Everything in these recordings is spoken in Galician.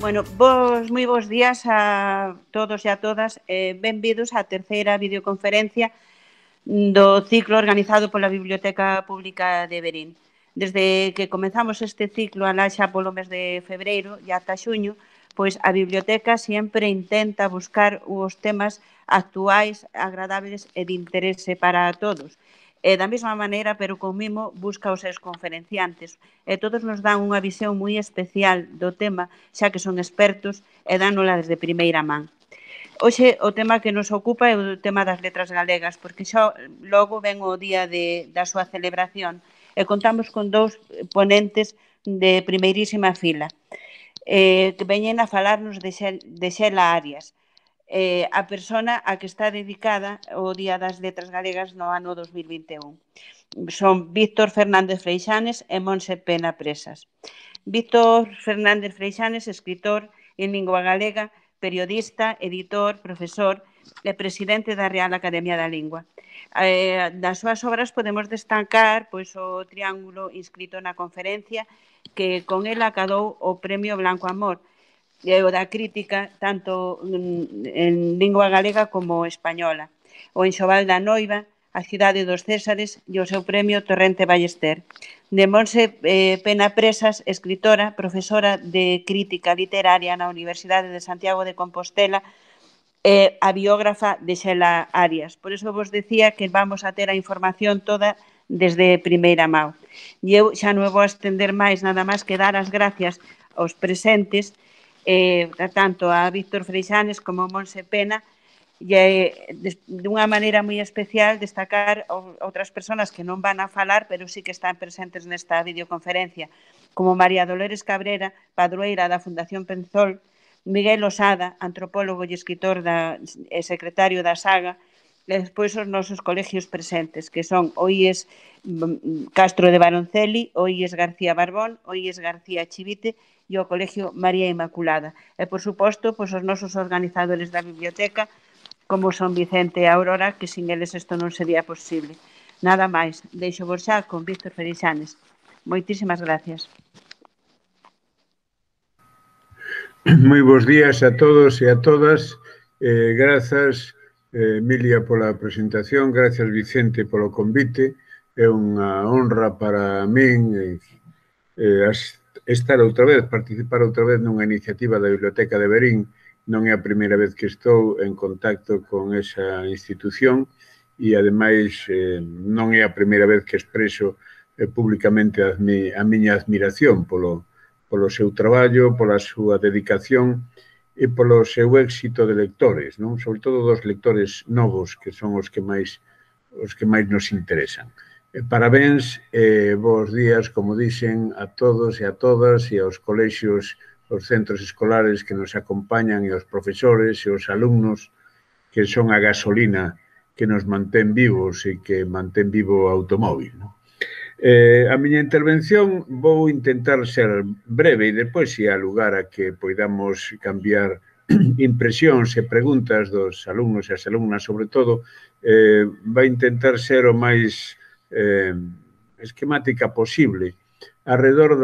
Moi bons días a todos e a todas. Benvidos á terceira videoconferencia do ciclo organizado pola Biblioteca Pública de Verín. Desde que comezamos este ciclo alá xa polo mes de febreiro e ata xuño, pois a biblioteca sempre intenta buscar os temas actuais, agradables e de interese para todos. E da mesma maneira, pero con mimo, busca os seus conferenciantes. E todos nos dan unha visión moi especial do tema, xa que son expertos e dánola desde primeira man. Hoxe o tema que nos ocupa é o tema das letras galegas, porque xa logo ven o día da súa celebración e contamos con dous ponentes de primeirísima fila que veñen a falarnos de Xela Arias, a persona a que está dedicada o Día das Letras Galegas no ano 2021. Son Víctor Fernández Freixanes e Montse Pena Presas. Víctor Fernández Freixanes, escritor en lingua galega, periodista, editor, profesor e presidente da Real Academia da Lingua. Das súas obras podemos destacar pois, o triángulo inscrito na conferencia que con ela acadou o Premio Blanco Amor, e o da crítica tanto en lingua galega como española, o Enxoval da Noiva, a Cidade dos Césares e o seu premio Torrente Ballester. De Montse Pena Presas, escritora, profesora de crítica literaria na Universidade de Santiago de Compostela e a biógrafa de Xela Arias. Por iso vos decía que vamos a ter a información toda desde primeira mão. E eu xa non vou estender máis, nada máis que dar as gracias aos presentes, tanto a Víctor Freixanes como a Montse Pena, e dunha maneira moi especial destacar outras persoas que non van a falar, pero sí que están presentes nesta videoconferencia, como María Dolores Cabrera, padroeira da Fundación Penzol, Miguel Osada, antropólogo e escritor e secretario da Saga, e despois os nosos colegios presentes, que son o IES Castro de Baronceli, o IES García Barbón, o IES García Chivite e o Colegio María Inmaculada. E, por suposto, os nosos organizadores da biblioteca, como son Vicente e Aurora, que sin eles isto non sería posible. Nada máis, deixo vos xa con Víctor Freixanes. Moitísimas gracias. Moi bons días a todos e a todas. Grazas, Emilia, pola presentación. Grazas, Vicente, polo convite. É unha honra para min estar outra vez, participar outra vez nunha iniciativa da Biblioteca de Verín. Non é a primeira vez que estou en contacto con esa institución e, ademais, non é a primeira vez que expreso públicamente a miña admiración polo seu traballo, pola súa dedicación e polo seu éxito de lectores, non? Sobre todo dos lectores novos, que son os que máis nos interesan. Parabéns e bons días, como dixen, a todos e a todas e aos colexios, os centros escolares que nos acompañan e os profesores e os alumnos que son a gasolina que nos mantén vivos e que mantén vivo o automóvil. A miña intervención vou intentar ser breve e depois se há lugar a que poidamos cambiar impresións e preguntas dos alumnos e as alumnas, sobre todo, vai intentar ser o máis esquemática posible arredor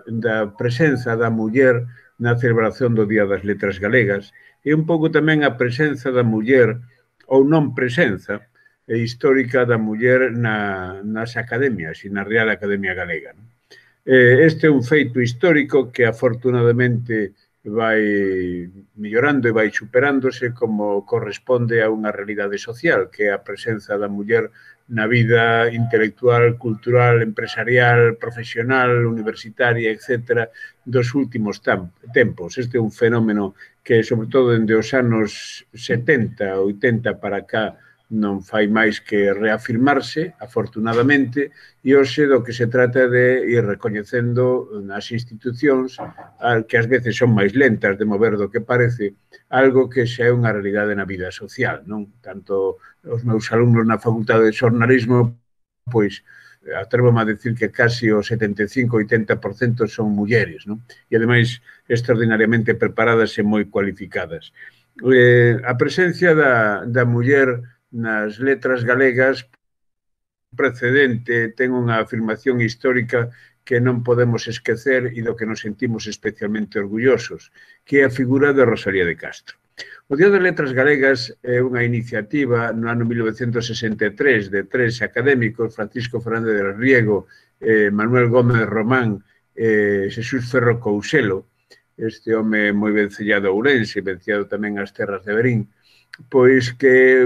da presenza da muller na celebración do Día das Letras Galegas e un pouco tamén a presenza da muller ou non presenza histórica da muller nas academias e na Real Academia Galega. Este é un feito histórico que afortunadamente vai mellorando e vai superándose como corresponde a unha realidade social, que é a presenza da muller na vida intelectual, cultural, empresarial, profesional, universitaria, etc., dos últimos tempos. Este é un fenómeno que, sobre todo, dende os anos 70, 80 para cá, non fai máis que reafirmarse, afortunadamente, e hoxe do que se trata de ir recoñecendo nas institucións, que ás veces son máis lentas de mover do que parece, algo que xa é unha realidade na vida social, non? Tanto os meus alumnos na Facultade de Xornalismo, pois, atrévome a decir que casi o 75-80% son mulleres, non? E, ademais, extraordinariamente preparadas e moi cualificadas. A presencia da muller nas letras galegas precedente ten unha afirmación histórica que non podemos esquecer e do que nos sentimos especialmente orgullosos, que é a figura de Rosalía de Castro. O Día das Letras Galegas é unha iniciativa no ano 1963 de tres académicos, Francisco Fernández del Riego, Manuel Gómez Román e Xesús Ferro Couselo, este home moi vencellado a Ourense, vencellado tamén ás terras de Verín, pois que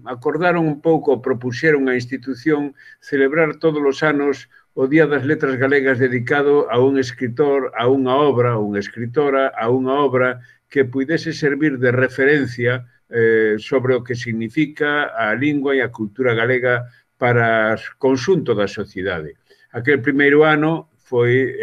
acordaron un pouco, propuxeron a institución celebrar todos os anos o Día das Letras Galegas dedicado a un escritor, a unha obra, a unha escritora, a unha obra que pudese servir de referencia sobre o que significa a lingua e a cultura galega para o conxunto da sociedade. Aquel primeiro ano foi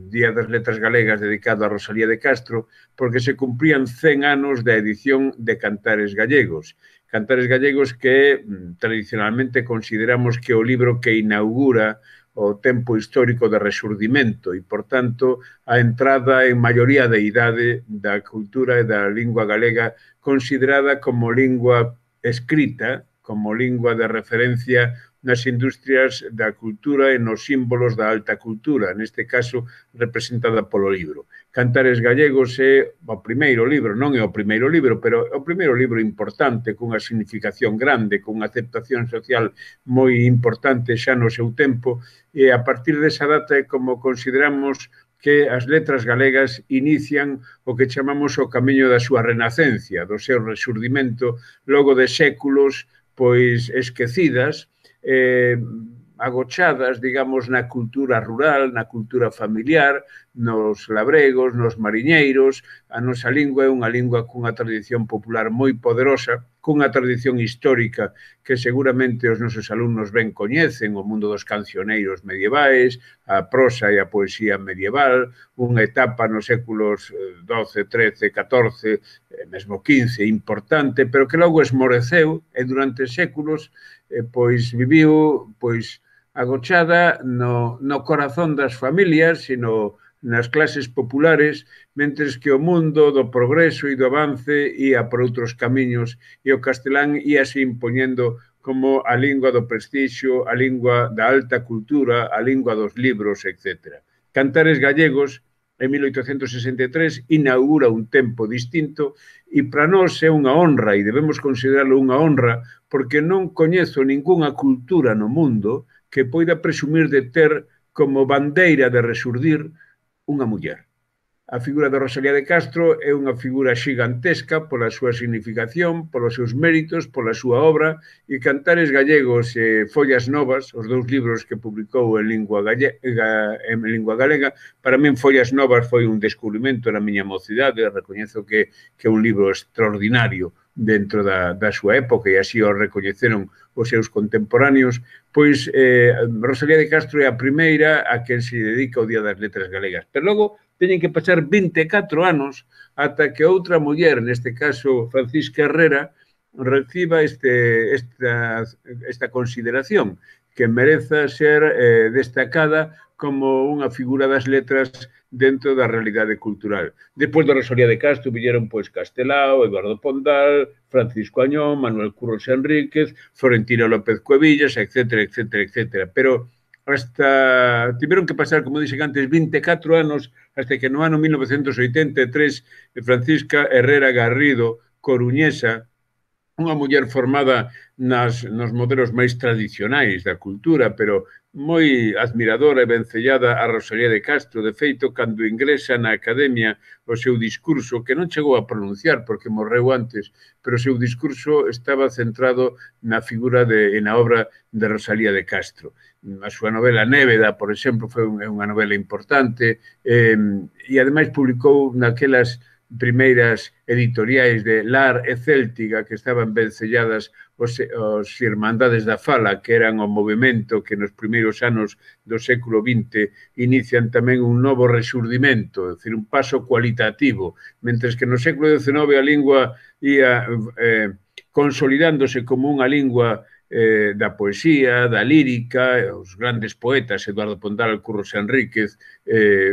Día das Letras Galegas dedicado a Rosalía de Castro porque se cumprían 100 anos da edición de Cantares Gallegos. Cantares Gallegos que tradicionalmente consideramos que o libro que inaugura o tempo histórico de resurdimento e, por tanto, a entrada en maioría de idade da cultura e da lingua galega considerada como lingua escrita, como lingua de referencia nas industrias da cultura e nos símbolos da alta cultura, neste caso representada polo libro. Cantares Gallegos é o primeiro libro, non é o primeiro libro, pero é o primeiro libro importante, cunha significación grande, cunha aceptación social moi importante xa no seu tempo, e a partir desa data é como consideramos que as letras galegas inician o que chamamos o camiño da súa renacencia, do seu resurdimento, logo de séculos pois esquecidas, agochadas, digamos, na cultura rural, na cultura familiar, nos labregos, nos mariñeiros. A nosa lingua é unha lingua cunha tradición popular moi poderosa, cunha tradición histórica que seguramente os nosos alumnos ben coñecen, o mundo dos cancioneiros medievais, a prosa e a poesía medieval, unha etapa nos séculos XII, XIII, XIV, mesmo XV, importante, pero que logo esmoreceu e durante séculos pois viviu pois agochada no corazón das familias, sino nas clases populares, mentres que o mundo do progreso e do avance ia por outros camiños e o castelán íase impoñendo como a lingua do prestixio, a lingua da alta cultura, a lingua dos libros, etc. Cantares Gallegos, en 1863, inaugura un tempo distinto e para nós é unha honra e debemos considerarlo unha honra porque non coñezo ningunha cultura no mundo que poida presumir de ter como bandeira de resurdir unha muller. A figura de Rosalía de Castro é unha figura xigantesca pola súa significación, polos seus méritos, pola súa obra, e Cantares Gallegos e Follas Novas, os dous libros que publicou en lingua galega, para min Follas Novas foi un descubrimento na miña mocidade, recoñezo que é un libro extraordinario dentro da súa época e así o recoñeceron os seus contemporáneos, pois Rosalía de Castro é a primeira a quen se dedica o Día das Letras Galegas. Pero logo teñen que pasar 24 anos ata que outra muller, neste caso Francisca Herrera, reciba esta consideración que mereza ser destacada como unha figura das letras dentro da realidade cultural. Despois de Rosalía de Castro viñeron pois Castelao, Eduardo Pondal, Francisco Añón, Manuel Curros Enríquez, Florentino López Cuevillas, etc., etc., etc. Pero hasta tiveron que pasar, como dixen antes, 24 anos hasta que no ano 1983 Francisca Herrera Garrido, coruñesa, unha muller formada nos modelos máis tradicionais da cultura, pero moi admiradora e vencellada a Rosalía de Castro. De feito, cando ingresa na academia o seu discurso, que non chegou a pronunciar porque morreu antes, pero o seu discurso estaba centrado na figura e na obra de Rosalía de Castro. A súa novela Néveda, por exemplo, foi unha novela importante e, ademais, publicou naquelas primeiras editoriais de Lar e Céltiga que estaban vencelladas os Irmandades da Fala, que eran o movimento que nos primeiros anos do século XX inician tamén un novo resurdimento, é dicir, un paso cualitativo, mentres que no século XIX a lingua ia consolidándose como unha lingua da poesía, da lírica, os grandes poetas, Eduardo Pondal, Curros Enríquez,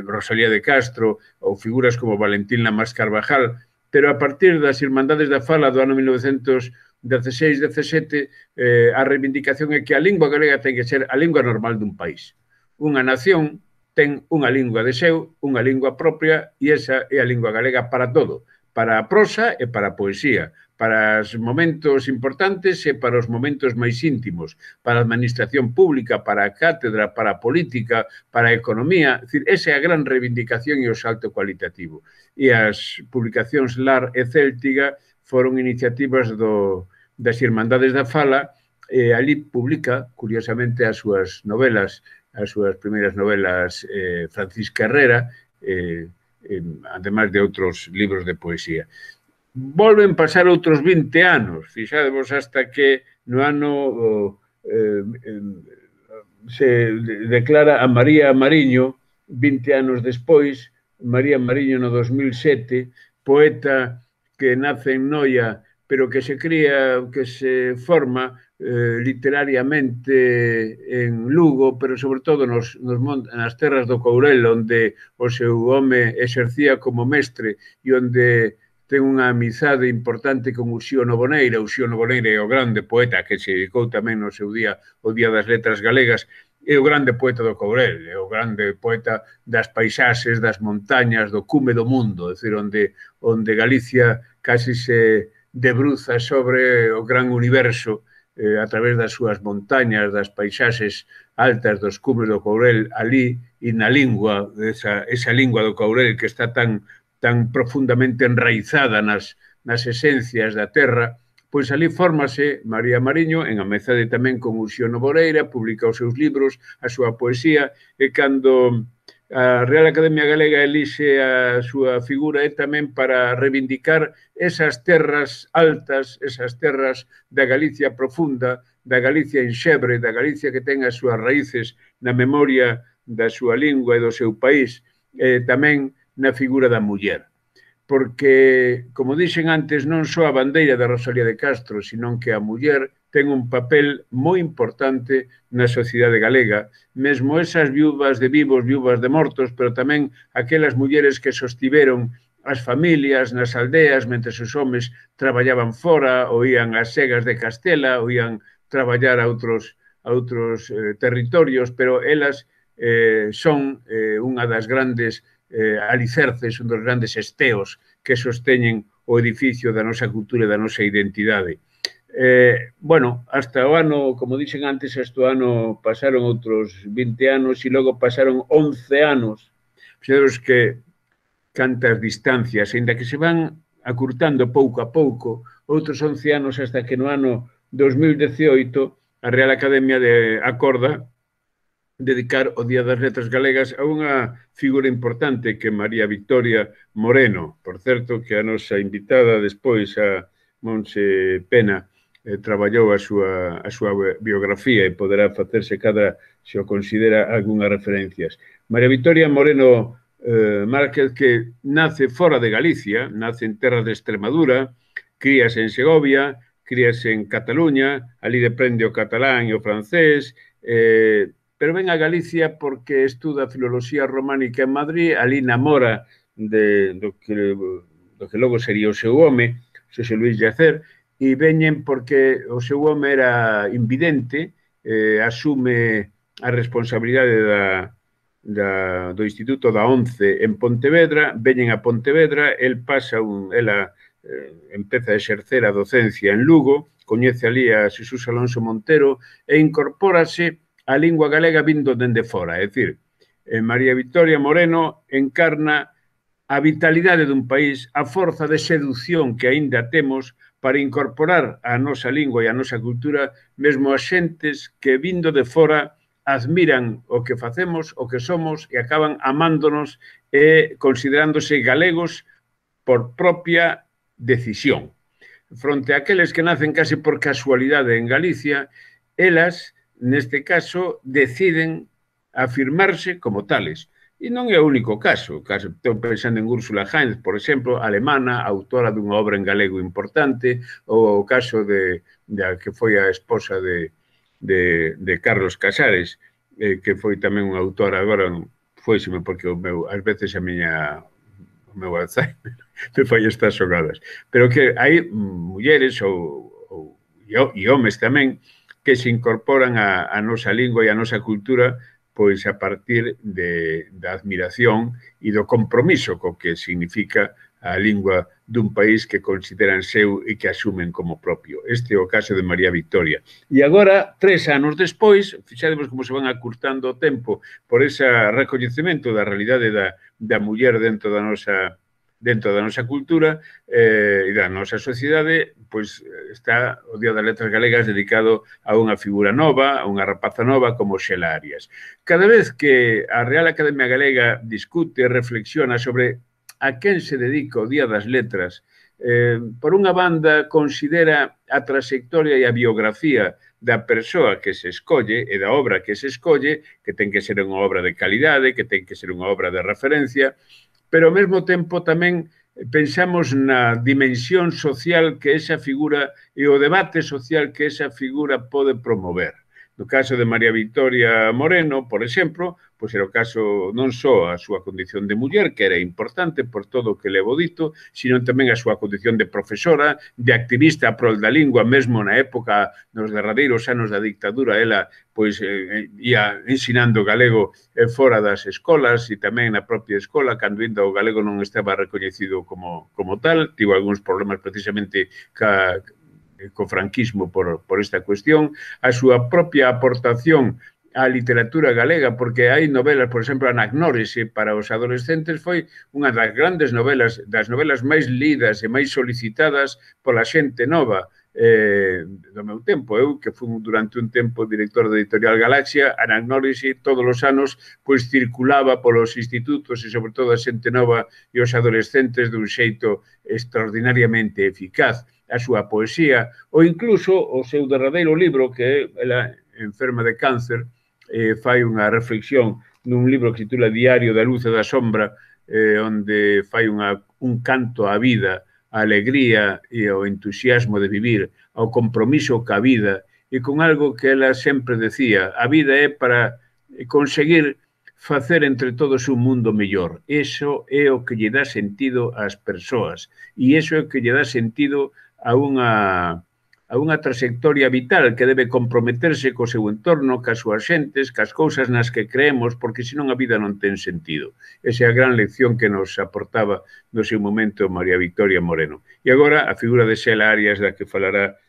Rosalía de Castro, ou figuras como Valentín Lamas Carvajal, pero a partir das Irmandades da Fala do ano 1916-17, a reivindicación é que a lingua galega ten que ser a lingua normal dun país. Unha nación ten unha lingua de seu, unha lingua propia, e esa é a lingua galega para todo, para a prosa e para a poesía, para os momentos importantes e para os momentos máis íntimos, para a administración pública, para a cátedra, para a política, para a economía. É dicir, esa é a gran reivindicación e o salto cualitativo. E as publicacións Lar e Céltiga foron iniciativas das Irmandades da Fala, e ali publica, curiosamente, as súas novelas, as súas primeiras novelas Francisca Herrera, ademais de outros libros de poesía. Volven pasar outros 20 anos, fixadevos, hasta que no ano se declara a María Mariño, 20 anos despois, María Mariño no 2007, poeta que nace en Noia, pero que se cría, que se forma literariamente en Lugo, pero sobre todo nas terras do Courel, onde o seu home exercía como mestre e onde ten unha amizade importante con Uxío Noboneira. Uxío Noboneira é o grande poeta que se dedicou tamén no seu día, o Día das Letras Galegas, é o grande poeta do Courel, é o grande poeta das paisaxes, das montañas, do cume do mundo, é dicir, onde Galicia casi se debruza sobre o gran universo a través das súas montañas, das paisaxes altas dos cumes do Courel, ali, e na lingua, esa lingua do Courel que está tan profundamente enraizada nas esencias da terra, pois ali fórmase María Mariño, en amizade tamén con Uxío Noboneira, publica os seus libros, a súa poesía, e cando a Real Academia Galega elixe a súa figura é tamén para reivindicar esas terras altas, esas terras da Galicia profunda, da Galicia enxebre, da Galicia que ten as súas raíces na memoria da súa lingua e do seu país, tamén na figura da muller. Porque, como dixen antes, non só a bandeira da Rosalía de Castro, senón que a muller ten un papel moi importante na sociedade galega, mesmo esas viúvas de vivos, viúvas de mortos, pero tamén aquelas mulleres que sostiveron as familias nas aldeas, mentre os homes traballaban fora, ou ían ás segas de Castela, ou ían traballar a outros territorios, pero elas son unha das grandes alicerces, un dos grandes esteos que sosteñen o edificio da nosa cultura e da nosa identidade. Bueno, hasta o ano, como dixen antes, hasta o ano pasaron outros 20 anos e logo pasaron 11 anos. Fixeros que cantas distancias, ainda que se van acurtando pouco a pouco, outros 11 anos hasta que no ano 2018 a Real Academia acorda dedicar o Día das Letras Galegas a unha figura importante que é María Victoria Moreno. Por certo, que a nosa invitada despois, a Monse Pena, traballou a súa biografía e poderá facerse se o considera, algunhas referencias. María Victoria Moreno Márquez, que nace fora de Galicia, nace en terras de Extremadura, críase en Segovia, críase en Cataluña, ali aprende o catalán e o francés, pero ven a Galicia porque estuda filoloxía románica en Madrid, ali namora do que logo sería o seu home, Xosé Luís Llacer, e veñen porque o seu home era invidente, asume a responsabilidade do Instituto da ONCE en Pontevedra, veñen a Pontevedra, ela empeza a exercer a docencia en Lugo, coñece ali a Xesús Alonso Montero e incorpórase a lingua galega vindo dende fora. É dicir, María Victoria Moreno encarna a vitalidade dun país, a forza de seducción que aínda temos para incorporar a nosa lingua e a nosa cultura, mesmo as xentes que vindo de fora admiran o que facemos, o que somos e acaban amándonos e considerándose galegos por propia decisión. Fronte a aqueles que nacen case por casualidade en Galicia, elas neste caso, deciden afirmarse como tales. E non é o único caso. Estou pensando en Úrsula Heinz, por exemplo, alemana, autora dunha obra en galego importante, ou o caso que foi a esposa de Carlos Casares, que foi tamén unha autora, agora foiseme porque ás veces o meu Alzheimer me fai estas xogadas. Pero que hai mulleres e homes tamén que se incorporan a nosa lingua e a nosa cultura pois a partir da admiración e do compromiso co que significa a lingua dun país que consideran seu e que asumen como propio. Este é o caso de María Victoria. E agora, 3 anos despois, fixademos como se van acurtando o tempo por ese recoñecemento da realidade da muller dentro da nosa cultura e da nosa sociedade, pois está o Día das Letras Galegas dedicado a unha figura nova, a unha rapaza nova como Xela Arias. Cada vez que a Real Academia Galega discute e reflexiona sobre a quen se dedica o Día das Letras, por unha banda considera a trayectoria e a biografía da persoa que se escolle e da obra que se escolle, que ten que ser unha obra de calidade, que ten que ser unha obra de referencia, pero ao mesmo tempo tamén pensamos na dimensión social que esa figura e o debate social que esa figura pode promover. No caso de María Victoria Moreno, por exemplo, pois era o caso non só a súa condición de muller, que era importante por todo o que levo dito, sino tamén a súa condición de profesora, de activista prol da lingua, mesmo na época, nos derradeiros anos da dictadura, ela pois ia ensinando galego fora das escolas e tamén na propia escola, cando ainda o galego non estaba recoñecido como tal, tivo algúns problemas precisamente co franquismo por esta cuestión, a súa propia aportación á literatura galega, porque hai novelas, por exemplo, Anagnórese para os adolescentes foi unha das grandes novelas, das novelas máis lidas e máis solicitadas pola xente nova do meu tempo. Eu, que fui durante un tempo director da editorial Galaxia, Anagnórese todos os anos pois circulaba polos institutos e sobre todo a xente nova e os adolescentes dun xeito extraordinariamente eficaz. A súa poesía, ou incluso o seu derradeiro libro, que ela, enferma de cáncer, fai unha reflexión nun libro que se titula Diario da Luz e da Sombra, onde fai un canto á vida, á alegría e ao entusiasmo de vivir, ao compromiso ca vida, e con algo que ela sempre decía, a vida é para conseguir facer entre todos un mundo mellor. Eso é o que lle dá sentido ás persoas, e eso é o que lle dá sentido a unha trayectoria vital que debe comprometerse co seu entorno, cas súas xentes, cas cousas nas que creemos, porque senón a vida non ten sentido. Esa é a gran lección que nos aportaba no seu momento María Victoria Moreno. E agora a figura de Xela Arias, da que falará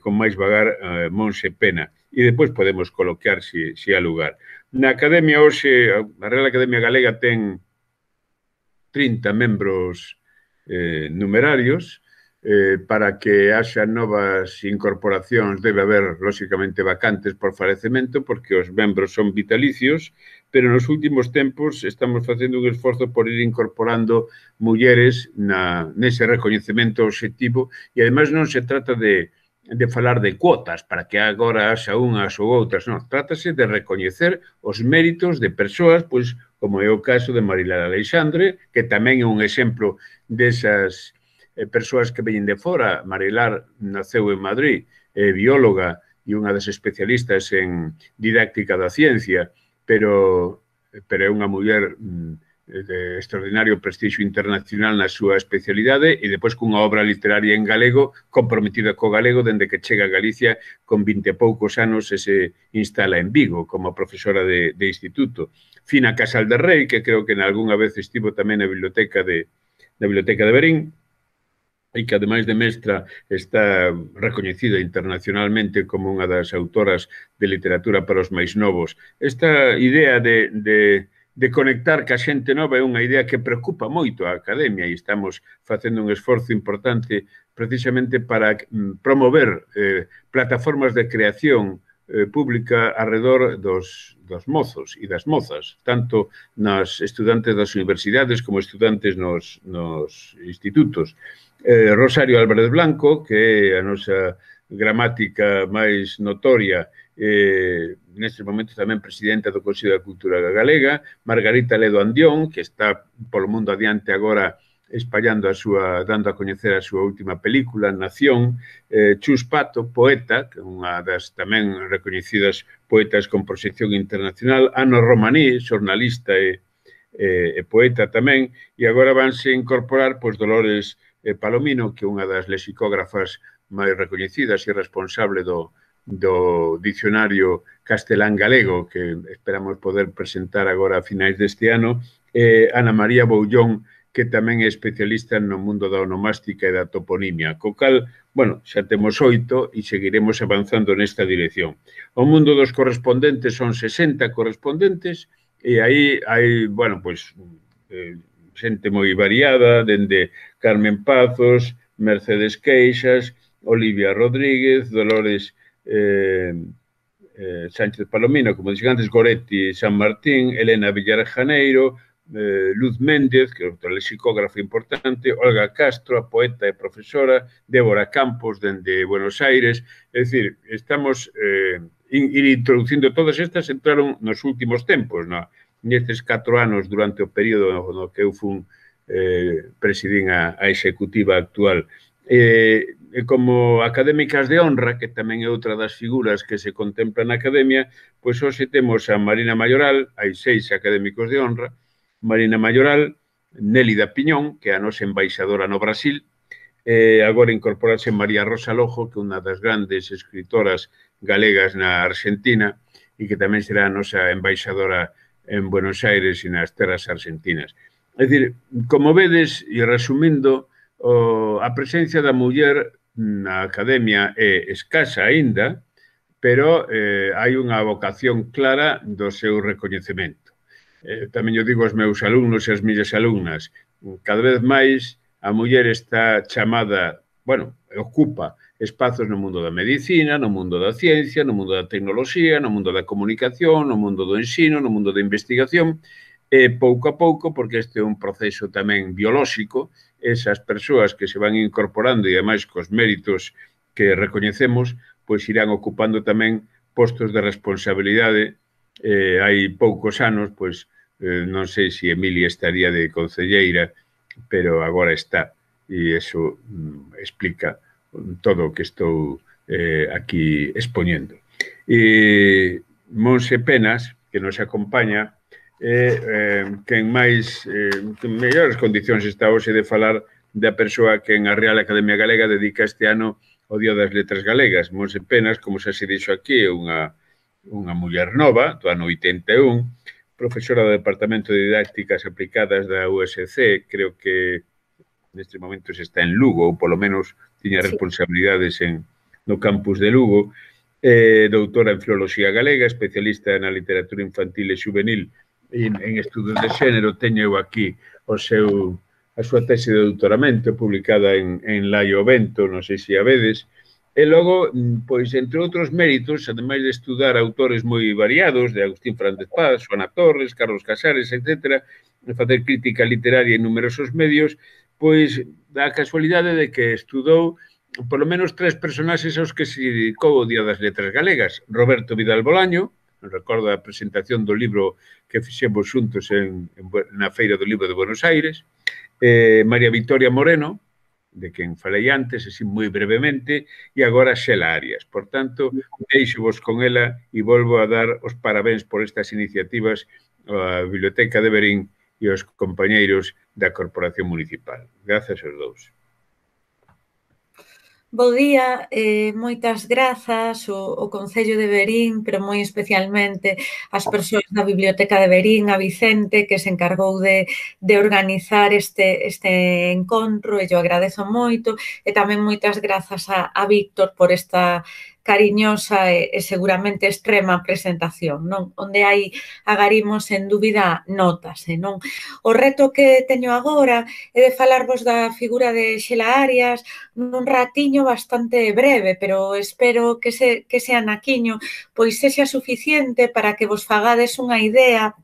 con máis vagar Monse Pena. E depois podemos colocar se há lugar. Na Academia hoxe, a Real Academia Galega ten 30 membros numerarios. Para que haxa novas incorporacións debe haber, lóxicamente, vacantes por falecemento, porque os membros son vitalicios, pero nos últimos tempos estamos facendo un esforzo por ir incorporando mulleres nese recoñecemento obxectivo, e ademais non se trata de falar de cuotas para que agora haxa unhas ou outras, non, trátase de recoñecer os méritos de persoas, pois, como é o caso de Marilar Aleixandre, que tamén é un exemplo desas persoas que veñen de fora. Marilar naceu en Madrid, é bióloga e unha das especialistas en didáctica da ciencia, pero é unha muller de extraordinario prestixio internacional na súa especialidade e depois cunha obra literaria en galego, comprometida co galego dende que chega a Galicia con 20 e poucos anos e se instala en Vigo como profesora de instituto. Fina Casal de Rei, que creo que algunha vez estivo tamén na biblioteca de Verín, e que, ademais de mestra, está recoñecida internacionalmente como unha das autoras de literatura para os máis novos. Esta idea de conectar ca xente nova é unha idea que preocupa moito a Academia e estamos facendo un esforzo importante precisamente para promover plataformas de creación pública arredor dos mozos e das mozas, tanto nas estudantes das universidades como estudantes nos institutos. Rosario Álvarez Blanco, que é a nosa gramática máis notoria, neste momento tamén presidenta do Consello da Cultura Galega, Margarita Ledo Andión, que está polo mundo adiante agora espallando dando a coñecer a súa última película, Nación, Chus Pato, poeta, que é unha das tamén recoñecidas poetas con proxección internacional, Ana Romaní, xornalista e poeta tamén, e agora vanse incorporar Dolores Palomino, que é unha das lexicógrafas máis recoñecidas e responsable do do dicionario castelán-galego, que esperamos poder presentar agora a finais deste ano, Ana María Boullón, que tamén é especialista no mundo da onomástica e da toponimia, co cal, bueno, xa temos 8 e seguiremos avanzando nesta dirección. O mundo dos correspondentes son 60 correspondentes e aí hai, bueno, pois, xente moi variada, dende Carmen Pazos, Mercedes Queixas, Olivia Rodríguez, Dolores Sánchez Palomino, como dixen antes, Goretti San Martín, Elena Villar Janeiro, Luz Méndez, que é outra lexicógrafa importante, Olga Castro, a poeta e profesora, Débora Campos, dende Buenos Aires. É dicir, estamos ir introducindo todas estas, entraron nos últimos tempos, nestes 4 anos durante o período no que eu fun presidín a executiva actual. Como académicas de honra, que tamén é outra das figuras que se contempla na academia, pois hoxe temos a Marina Mayoral, hai 6 académicos de honra, Marina Mayoral, Nélida Piñón, que é a nosa embaixadora no Brasil, agora incorporarse María Rosa Lojo, que é unha das grandes escritoras galegas na Argentina e que tamén será a nosa embaixadora en Buenos Aires e nas terras argentinas. É dicir, como vedes, e resumindo, a presencia da muller na academia é escasa aínda, pero hai unha vocación clara do seu recoñecemento. Tamén eu digo aos meus alumnos e as miñas alumnas, cada vez máis a muller está chamada, bueno, ocupa espazos no mundo da medicina, no mundo da ciencia, no mundo da tecnoloxía, no mundo da comunicación, no mundo do ensino, no mundo da investigación, e pouco a pouco, porque este é un proceso tamén biolóxico, esas persoas que se van incorporando e ademais cos méritos que recoñecemos, pois irán ocupando tamén postos de responsabilidade. Hai poucos anos, pois, non sei se Emilia estaría de concelleira, pero agora está, e iso explica todo o que estou aquí expoñendo. E Monse Penas, que nos acompaña, que en máis, en mellores condicións está hoxe de falar da persoa que en a Real Academia Galega dedica este ano o Día das Letras Galegas. Monse Penas, como xa se dixo aquí, é unha muller nova, do ano 81, profesora do Departamento de Didácticas Aplicadas da USC, creo que neste momento se está en Lugo, ou polo menos tiña responsabilidades no campus de Lugo, doutora en Filoloxía Galega, especialista na literatura infantil e juvenil en estudos de xénero. Teño aquí a súa tese de doutoramento publicada en Laio Vento, non sei se a vedes. E logo, pois, entre outros méritos, ademais de estudar autores moi variados, de Agustín Fernández Paz, Xoana Torres, Carlos Casares, etc., de facer crítica literaria en numerosos medios, pois, dá a casualidade de que estudou polo menos 3 personaxes aos que se dedicou o Día das Letras Galegas. Roberto Vidal Bolaño, recordo a presentación do libro que fixemos xuntos na Feira do Libro de Buenos Aires, María Victoria Moreno, de quen falei antes, así moi brevemente, e agora Xela Arias. Por tanto, deixo-vos con ela e volvo a dar os parabéns por estas iniciativas á Biblioteca de Verín e aos compañeiros da Corporación Municipal. Grazas aos dous. Bo día, moitas grazas ao Concello de Verín, pero moi especialmente ás persoas da Biblioteca de Verín, a Vicente, que se encargou de organizar este encontro, e yo agradezo moito, e tamén moitas grazas a Víctor por esta cariñosa e seguramente extrema presentación, non? Onde hai agarimos, sen dúbida, notas, non? O reto que teño agora é de falarvos da figura de Xela Arias nun ratiño bastante breve, pero espero que ese anaquiño pois sexa suficiente para que vos fagades unha idea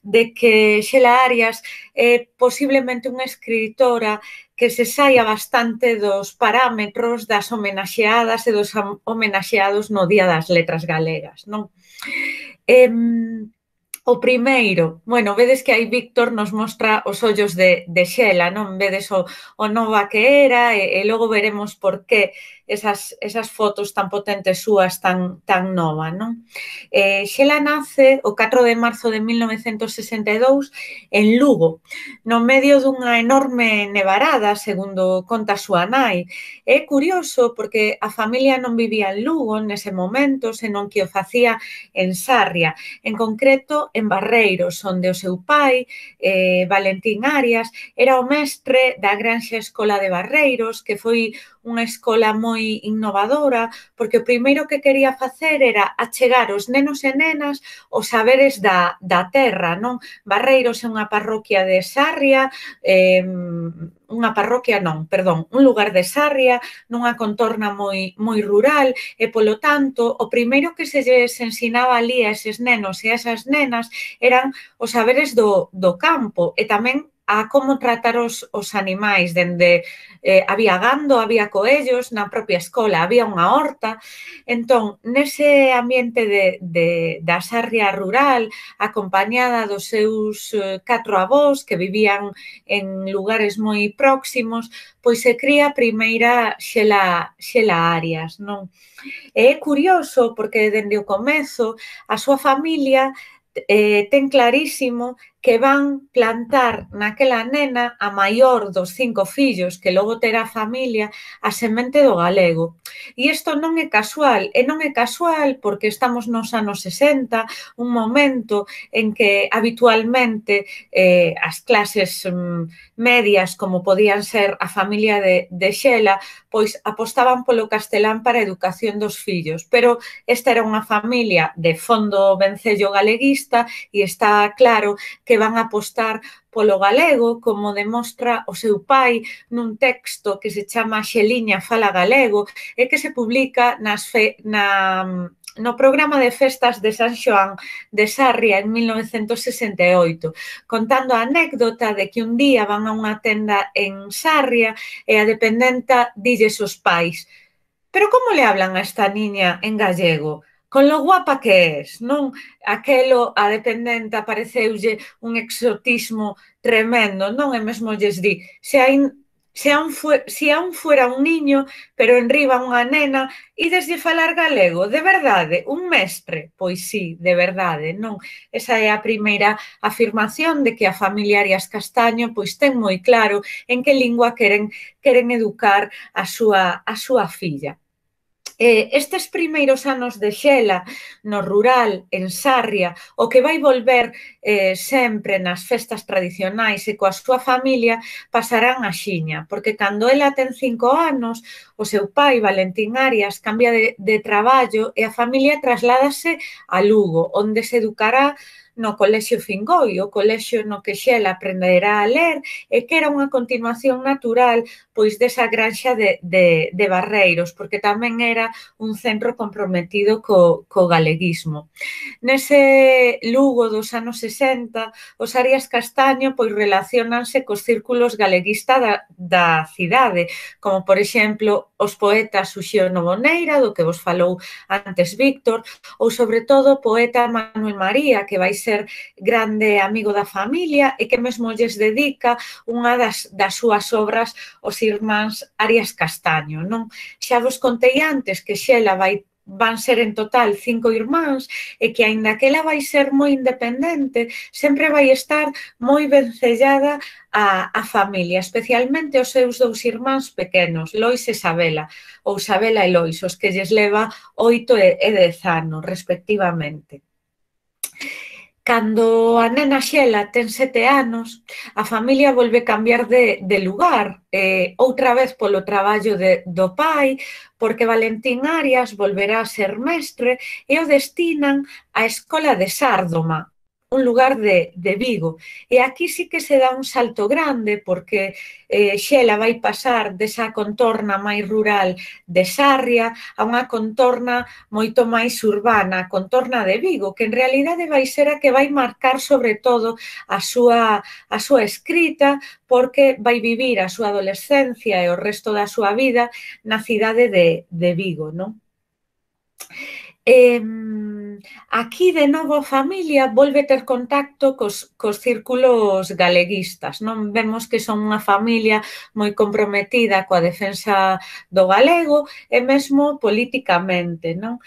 de que Xela Arias é posiblemente unha escritora que se saia bastante dos parámetros das homenaxeadas e dos homenaxeados no Día das Letras Galegas, non? O primeiro, bueno, vedes que aí Víctor nos mostra os ollos de Xela, non? Vedes o nova que era e logo veremos por que esas fotos tan potentes súas tan nova, non? Xela nace o 4 de marzo de 1962 en Lugo, no medio dunha enorme nevarada, segundo conta a súa nai. É curioso porque a familia non vivía en Lugo nese momento, senón que o facía en Sarria, en concreto en Barreiros, onde o seu pai, Valentín Arias, era o mestre da Granxa Escola de Barreiros, que foi unha escola moi innovadora, porque o primeiro que quería facer era achegar os nenos e nenas os saberes da terra, non? Barreiros é unha parroquia de Sarria, un lugar de Sarria, nunha contorna moi rural, e polo tanto, o primeiro que se lles ensinaba ali a eses nenos e a esas nenas eran os saberes do campo e tamén a como tratar os animais, dende había gando, había coellos na propia escola, había unha horta. Entón, nese ambiente da Sarria rural, acompañada dos seus 4 avós que vivían en lugares moi próximos, pois se cría a primeira Xela Arias, non? E é curioso porque dende o comezo a súa familia ten clarísimo que van plantar naquela nena a maior dos 5 fillos que logo terá a familia a semente do galego. E isto non é casual, e non é casual porque estamos nos anos 60, un momento en que habitualmente as clases medias, como podían ser a familia de Xela, pois apostaban polo castelán para a educación dos fillos, pero esta era unha familia de fondo vencello galeguista e está claro que van a apostar polo galego, como demostra o seu pai nun texto que se chama Xeliña fala galego e que se publica no programa de festas de San Xoán de Sarria en 1968, contando a anécdota de que un día van a unha tenda en Sarria e a dependenta dilles os pais: pero como le hablan a esta niña en gallego? Con lo guapa que es, non? Aquelo a dependenta pareceulle un exotismo tremendo, non? E mesmo lles di, se aún fuera un niño, pero enriba unha nena, ideslle falar galego, de verdade, un mestre? Pois sí, de verdade, non? Esa é a primeira afirmación de que a familia Arias Castaño pois ten moi claro en que lingua queren educar a súa filla. Estes primeiros anos de Xela no rural, en Sarria, o que vai volver sempre nas festas tradicionais e coa súa familia pasarán a xiña, porque cando ela ten 5 anos, o seu pai, Valentín Arias, cambia de traballo e a familia trasládase a Lugo, onde se educará no Colexio Fingoi, o colexio no que Xela aprenderá a ler e que era unha continuación natural pois desa granxa de Barreiros, porque tamén era un centro comprometido co galeguismo. Nese Lugo dos anos 60, os Arias Castaño pois relacionanse cos círculos galeguistas da cidade, como por exemplo os poetas Uxío Novoneira, do que vos falou antes Víctor, ou sobre todo o poeta Manuel María, que vai ser grande amigo da familia e que mesmo lles dedica unha das súas obras os irmáns Arias Castaño, non? Xa vos contei antes que Xela van ser en total 5 irmáns e que, aínda que ela vai ser moi independente, sempre vai estar moi vencellada a familia, especialmente os seus 2 irmáns pequenos, Lois e Sabela, ou Sabela e Lois, os que lles leva 8 e 10 anos, respectivamente. Cando a nena Xela ten 7 anos, a familia volve cambiar de lugar, outra vez polo traballo do pai, porque Valentín Arias volverá a ser mestre e o destinan á Escola de Sárdoma, un lugar de Vigo. E aquí sí que se dá un salto grande porque Xela vai pasar desa contorna máis rural de Sarria a unha contorna moito máis urbana, a contorna de Vigo, que en realidade vai ser a que vai marcar sobre todo a súa escrita, porque vai vivir a súa adolescencia e o resto da súa vida na cidade de Vigo, non? Aquí, de novo, a familia volve ter contacto cos círculos galeguistas, non? Vemos que son unha familia moi comprometida coa defensa do galego e mesmo políticamente, non?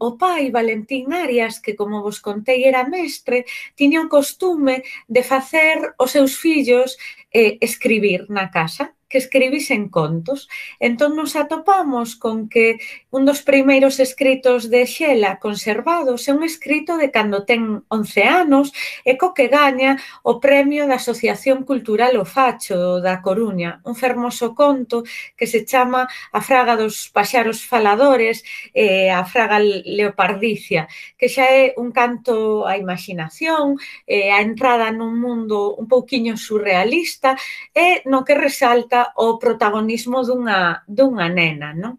O pai, Valentín Arias, que, como vos contei, era mestre, tiña o costume de facer os seus fillos escribir na casa, que escribisen contos. Entón, nos atopamos con que un dos primeiros escritos de Xela conservados é un escrito de cando ten 11 anos e co que gaña o premio da Asociación Cultural O Facho da Coruña, un fermoso conto que se chama A fraga dos paxaros faladores e a fraga leopardicia, que xa é un canto á imaginación, a entrada nun mundo un pouquiño surrealista e no que resalta o protagonismo dunha nena, non?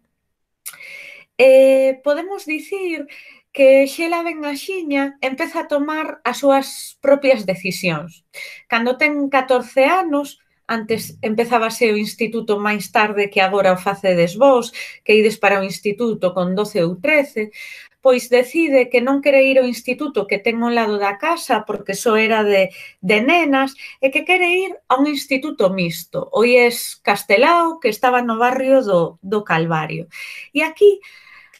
Podemos dicir que Xela ben axiña empeza a tomar as súas propias decisións. Cando ten 14 anos, antes empezábase o instituto máis tarde que agora o facedes vos, que ides para o instituto con 12 ou 13, pois decide que non quere ir ao instituto que ten ao lado da casa porque só era de nenas e que quere ir a un instituto mixto, o IES Castelao, que estaba no barrio do Calvario. E aquí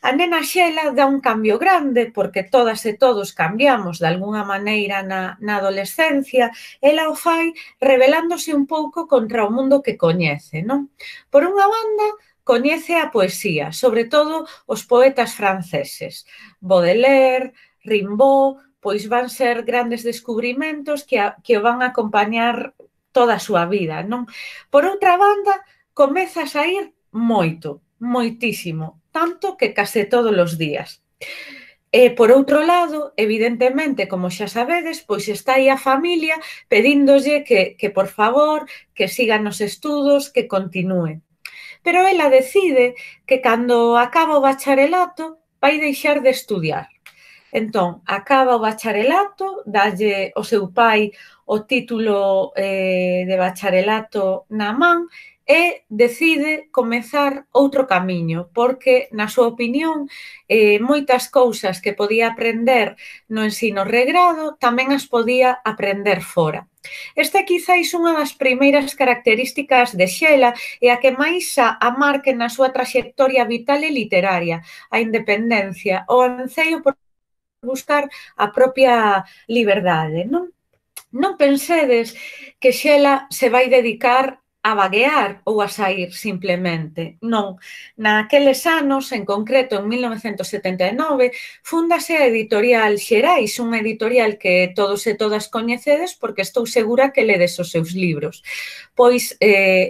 a nena Xela dá un cambio grande porque todas e todos cambiamos de algunha maneira na adolescencia. Ela o fai rebelándose un pouco contra o mundo que coñece, non? Por unha banda, coñece a poesía, sobre todo os poetas franceses. Baudelaire, Rimbaud, pois van ser grandes descubrimentos que o van a acompañar toda a súa vida, non? Por outra banda, comeza a saír moito, moitísimo, tanto que case todos os días. E, por outro lado, evidentemente, como xa sabedes, pois está aí a familia pedíndolle que por favor, que siga nos estudos, que continúe. Pero ela decide que cando acaba o bacharelato vai deixar de estudiar. Entón, acaba o bacharelato, dalle o seu pai o título de bacharelato na man e decide comezar outro camiño, porque, na súa opinión, moitas cousas que podía aprender no ensino regrado tamén as podía aprender fora. Esta é quizáis unha das primeiras características de Xela e a que máis a marque na súa traxectoria vital e literaria, a independencia, o anseio por buscar a propia liberdade, non? Non pensedes que Xela se vai dedicar a vaguear ou a sair simplemente. Non. Naqueles anos, en concreto en 1979, fúndase a editorial Xerais, unha editorial que todos e todas coñecedes porque estou segura que ledes os seus libros. Pois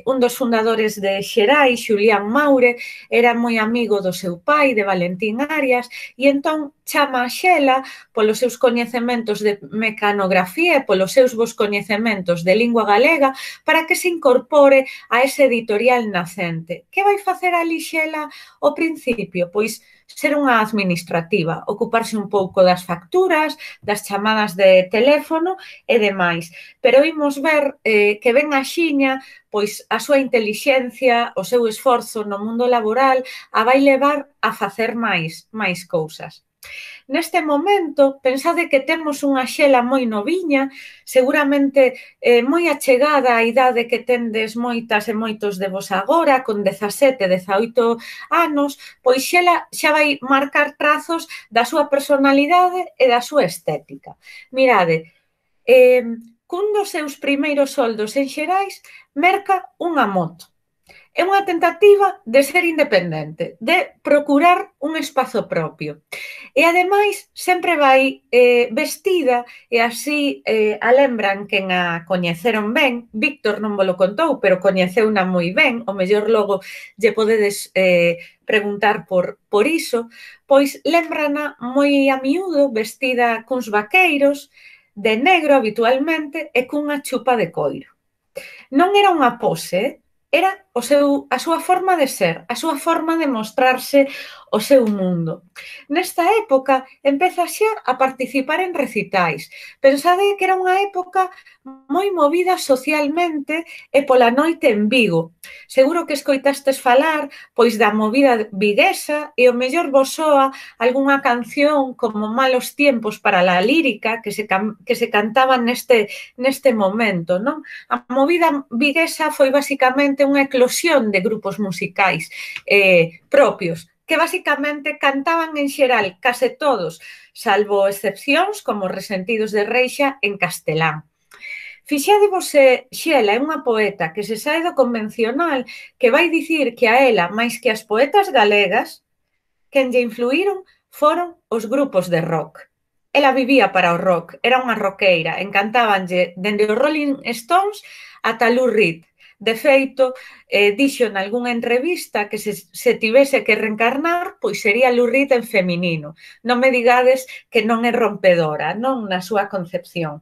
un dos fundadores de Xerais, Xulián Maure, era moi amigo do seu pai, de Valentín Arias, e entón chama a Xela polos seus coñecementos de mecanografía e polos seus bons coñecementos de lingua galega para que se incorpore a ese editorial nacente. Que vai facer ali Xela ao principio? Pois ser unha administrativa, ocuparse un pouco das facturas, das chamadas de teléfono e demais. Pero imos ver que ben axiña, pois a súa intelixencia, o seu esforzo no mundo laboral a vai levar a facer máis cousas. Neste momento, pensade que temos unha Xela moi noviña, seguramente moi achegada á idade que tendes moitas e moitos de vos agora, con 17, 18 anos, pois Xela xa vai marcar trazos da súa personalidade e da súa estética. Mirade, cun dos seus primeiros soldos en Xerais, merca unha moto. É unha tentativa de ser independente, de procurar un espazo propio. E, ademais, sempre vai vestida, e así a lembran quen a coñeceron ben. Víctor non vos lo contou, pero coñeceuna moi ben, o mellor logo lle podedes preguntar por iso, pois lembrana moi a miúdo, vestida cuns vaqueiros, de negro habitualmente, e cunha chupa de coiro. Non era unha pose, era a súa forma de ser, a súa forma de mostrarse o seu mundo. Nesta época empeza xa a participar en recitais. Pensade que era unha época moi movida socialmente e pola noite en Vigo. Seguro que escoitastes falar pois da movida viguesa e o mellor vos soa algunha canción como Malos tiempos para la lírica que se cantaba neste momento, non? A movida viguesa foi basicamente unha eclosión de grupos musicais propios, que basicamente cantaban en xeral case todos, salvo excepcións como Resentidos de Reixa en castelán. Fixádevos se Xela é unha poeta que se sae do convencional, que vai dicir que a ela, máis que as poetas galegas, quen lle influíron foron os grupos de rock. Ela vivía para o rock, era unha roqueira, encantábanlle dende os Rolling Stones ata Lou Reed. De feito, dixo nalgúnha entrevista que se tivese que reencarnar, pois sería Lou Reed en feminino. Non me digades que non é rompedora, non na súa concepción.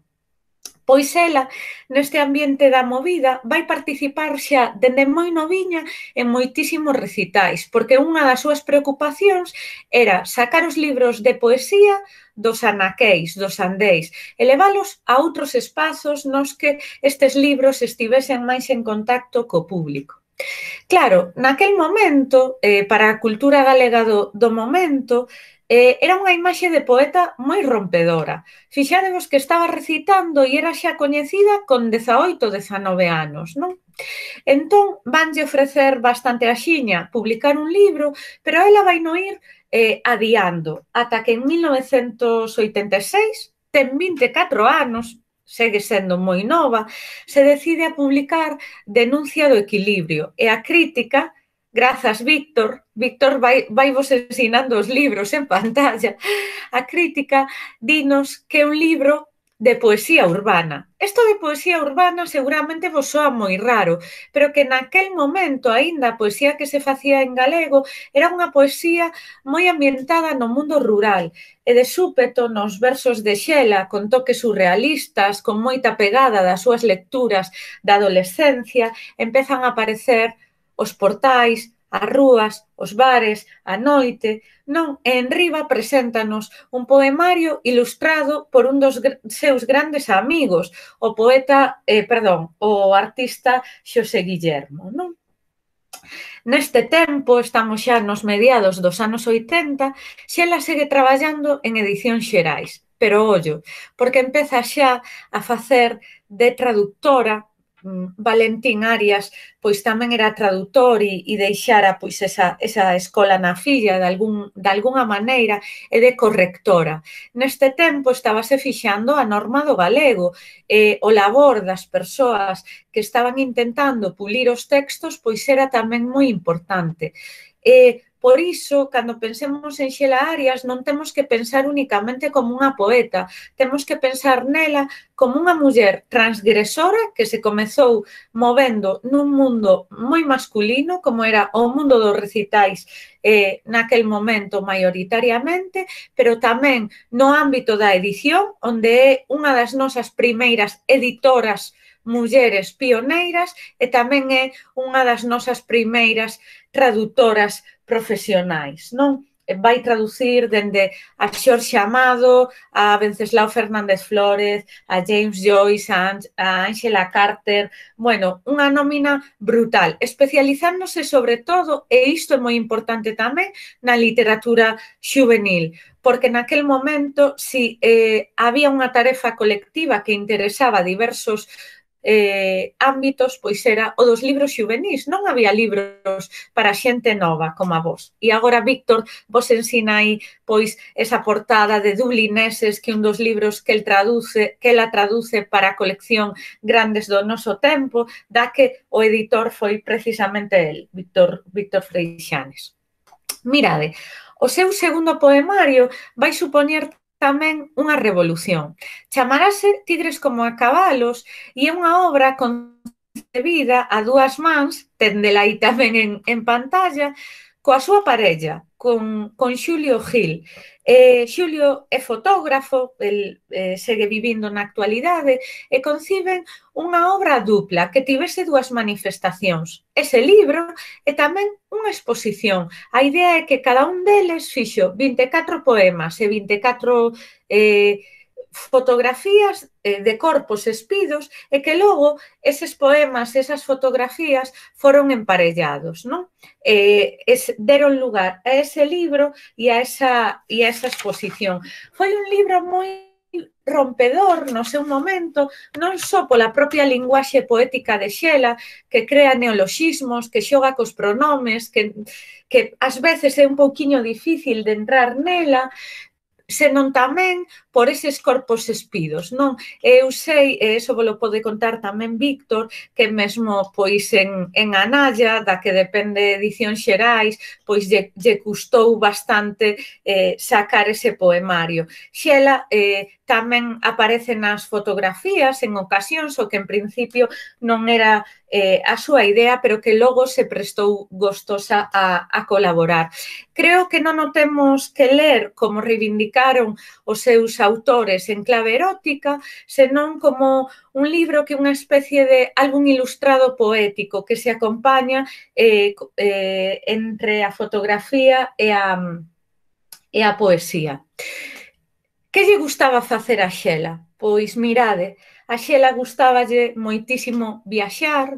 Pois ela, neste ambiente da movida, vai participar xa dende moi noviña en moitísimos recitais, porque unha das súas preocupacións era sacar os libros de poesía dos anaqueis, dos andéis, e leválos a outros espazos nos que estes libros estivesen máis en contacto co público. Claro, naquel momento, para a cultura galega do momento, era unha imaxe de poeta moi rompedora. Fixádevos que estaba recitando e era xa coñecida con 18, 19 anos, non? Entón, vanlle ofrecer bastante axiña publicar un libro, pero ela vai no ir adiando, ata que en 1986, ten 24 anos, segue sendo moi nova, se decide a publicar Denuncia do equilibrio, e a crítica, grazas Víctor vai vos ensinando os libros en pantalla, a crítica dinos que é un libro de poesía urbana. Isto de poesía urbana seguramente vos soa moi raro, pero que naquel momento aínda a poesía que se facía en galego era unha poesía moi ambientada no mundo rural e de súpeto nos versos de Xela con toques surrealistas, con moita pegada das súas lecturas da adolescencia, empezan a aparecer os portais, as rúas, os bares, a noite, non? E en riba preséntanos un poemario ilustrado por un dos seus grandes amigos, o artista Xosé Guillermo, non? Neste tempo, estamos xa nos mediados dos anos 80, Xela segue traballando en edicións xerais, pero ollo, porque empeza xa a facer de traductora. Valentín Arias pois tamén era traductor e deixara pois esa escola na filla de algunha maneira e de correctora. Neste tempo estábase fixando a norma do galego e o labor das persoas que estaban intentando pulir os textos pois era tamén moi importante. Por iso, cando pensemos en Xela Arias, non temos que pensar únicamente como unha poeta, temos que pensar nela como unha muller transgresora que se comezou movendo nun mundo moi masculino, como era o mundo dos recitais naquel momento maioritariamente, pero tamén no ámbito da edición, onde é unha das nosas primeiras editoras mulleres pioneiras e tamén é unha das nosas primeiras traductoras profesionais, non? Vai traducir dende a Xorxe Amado, a Venceslao Fernández Flórez, a James Joyce, a Ángela Carter, bueno, unha nómina brutal, especializándose sobre todo, e isto é moi importante tamén, na literatura xuvenil, porque naquel momento, si había unha tarefa colectiva que interesaba a diversos ámbitos, pois era o dos libros xuvenís, non había libros para xente nova como a vos. E agora Víctor vos ensina aí pois esa portada de Dublineses, que un dos libros que ela traduce para a colección Grandes do noso tempo, da que o editor foi precisamente el, Víctor Freixanes. Mirade, o seu segundo poemario vai supoñer tamén unha revolución. Chamarase Tigres como a cabalos e é unha obra con de vida a dúas mans, tendela aí tamén en pantalla, coa súa parella, con Xulio Gil. Xulio é fotógrafo, el segue vivindo na actualidade e conciben unha obra dupla que tivese dúas manifestacións. Ese libro e tamén unha exposición. A idea é que cada un deles fixo 24 poemas e 24 fotografías de corpos espidos e que logo eses poemas, esas fotografías foron emparellados, non? Deron lugar a ese libro e a esa exposición. Foi un libro moi rompedor no seu momento, non só pola propia linguaxe poética de Xela, que crea neoloxismos, que xoga cos pronomes, que ás veces é un pouquiño difícil de entrar nela, senón tamén por eses corpos espidos, non? Eu sei, e iso vos pode contar tamén Víctor, que mesmo pois en Analla, da que depende de Edicións Xerais, pois lle custou bastante sacar ese poemario. Xela tamén aparece nas fotografías en ocasións, o que en principio non era a súa idea, pero que logo se prestou gostosa a colaborar. Creo que non o temos que ler como reivindicaron os seus autores en clave erótica, senón como un libro que é unha especie de álbum ilustrado poético que se acompaña entre a fotografía e a poesía. Que lle gustaba facer a Xela? Pois mirade, a Xela gustáballe moitísimo viaxar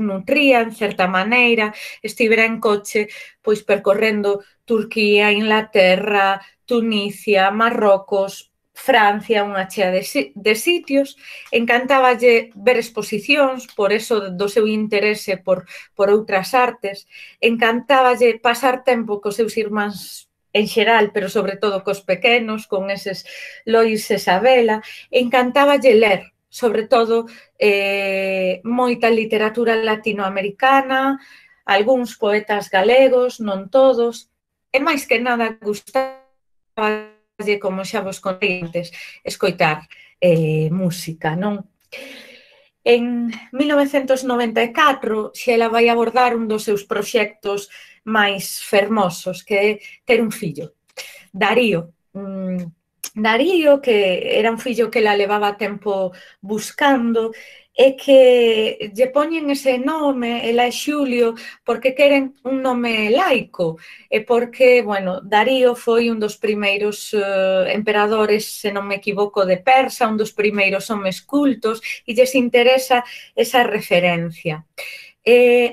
nutría, en certa maneira, estivera en coche, pois percorrendo Turquía, Inglaterra, Tunisia, Marrocos, Francia, unha chea de sitios, encantáballe ver exposicións, por eso do seu interese por outras artes, encantáballe pasar tempo cos seus irmáns en xeral, pero sobre todo cos pequenos, con eses Lois e Sabela, encantáballe ler, sobre todo moita literatura latinoamericana, algúns poetas galegos, non todos, e máis que nada gustáballe, como xa vos contei antes, escoitar música, non? En 1994, Xela vai abordar un dos seus proxectos máis fermosos, que é ter un fillo. Darío, que era un fillo que la levaba tempo buscando e que lle poñen ese nome, ela é Xulio, porque queren un nome laico e porque, bueno, Darío foi un dos primeiros emperadores, se non me equivoco, de Persa, un dos primeiros homes cultos e lles interesa esa referencia.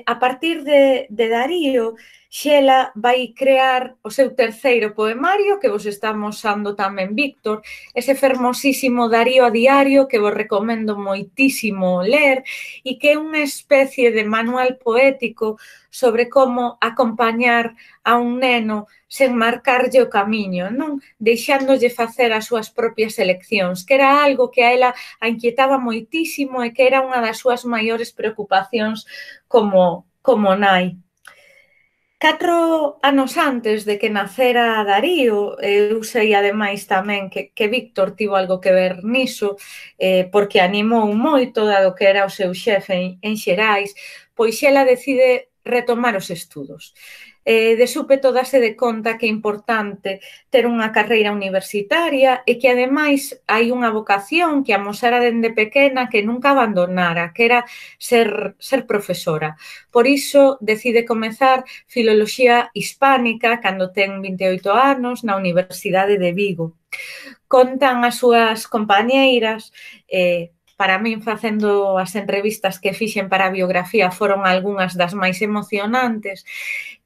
A partir de Darío, Xela vai crear o seu terceiro poemario, que vos estamos usando tamén, Víctor, ese fermosísimo Darío a diario, que vos recomendo moitísimo ler, e que é unha especie de manual poético sobre como acompañar a un neno sen marcarlle o camiño, non? Deixándolle facer as súas propias eleccións, que era algo que a ela a inquietaba moitísimo e que era unha das súas maiores preocupacións como nai. 4 anos antes de que nacera Darío, eu sei ademais tamén que Víctor tivo algo que ver niso, porque animou moito, dado que era o seu xefe en Xerais, pois ela decide retomar os estudos. De súpeto dase de conta que é importante ter unha carreira universitaria e que, ademais, hai unha vocación que amosara dende pequena que nunca abandonara, que era ser profesora. Por iso, decide comezar Filoloxía Hispánica cando ten 28 anos na Universidade de Vigo. Contan as súas compañeiras, para min, facendo as entrevistas que fixen para a biografía, foron algunhas das máis emocionantes,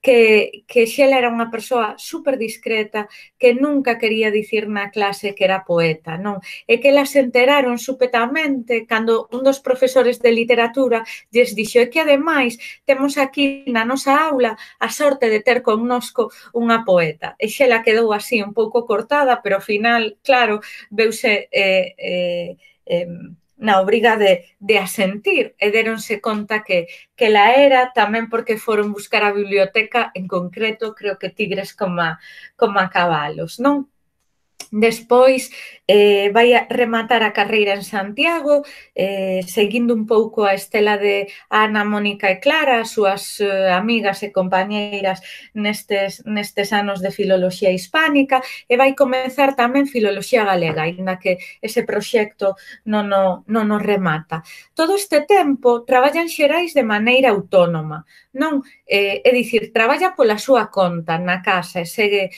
que Xela era unha persoa super discreta, que nunca quería dicir na clase que era poeta, non? E que elas se enteraron supetamente cando un dos profesores de literatura lles dixo que, ademais, temos aquí na nosa aula a sorte de ter connosco unha poeta. E Xela quedou así un pouco cortada, pero ao final, claro, veuse na obriga de asentir e deronse conta que la era, tamén porque foron buscar a biblioteca, en concreto, creo que tigres como a cabalos, non? Despois vai a rematar a carreira en Santiago, seguindo un pouco a estela de Ana, Mónica e Clara, as súas amigas e compañeiras nestes anos de Filoloxía Hispánica, e vai comezar tamén Filoloxía Galega, aínda que ese proxecto non o remata. Todo este tempo traballa en Xerais de maneira autónoma, non? É dicir, traballa pola súa conta na casa e segue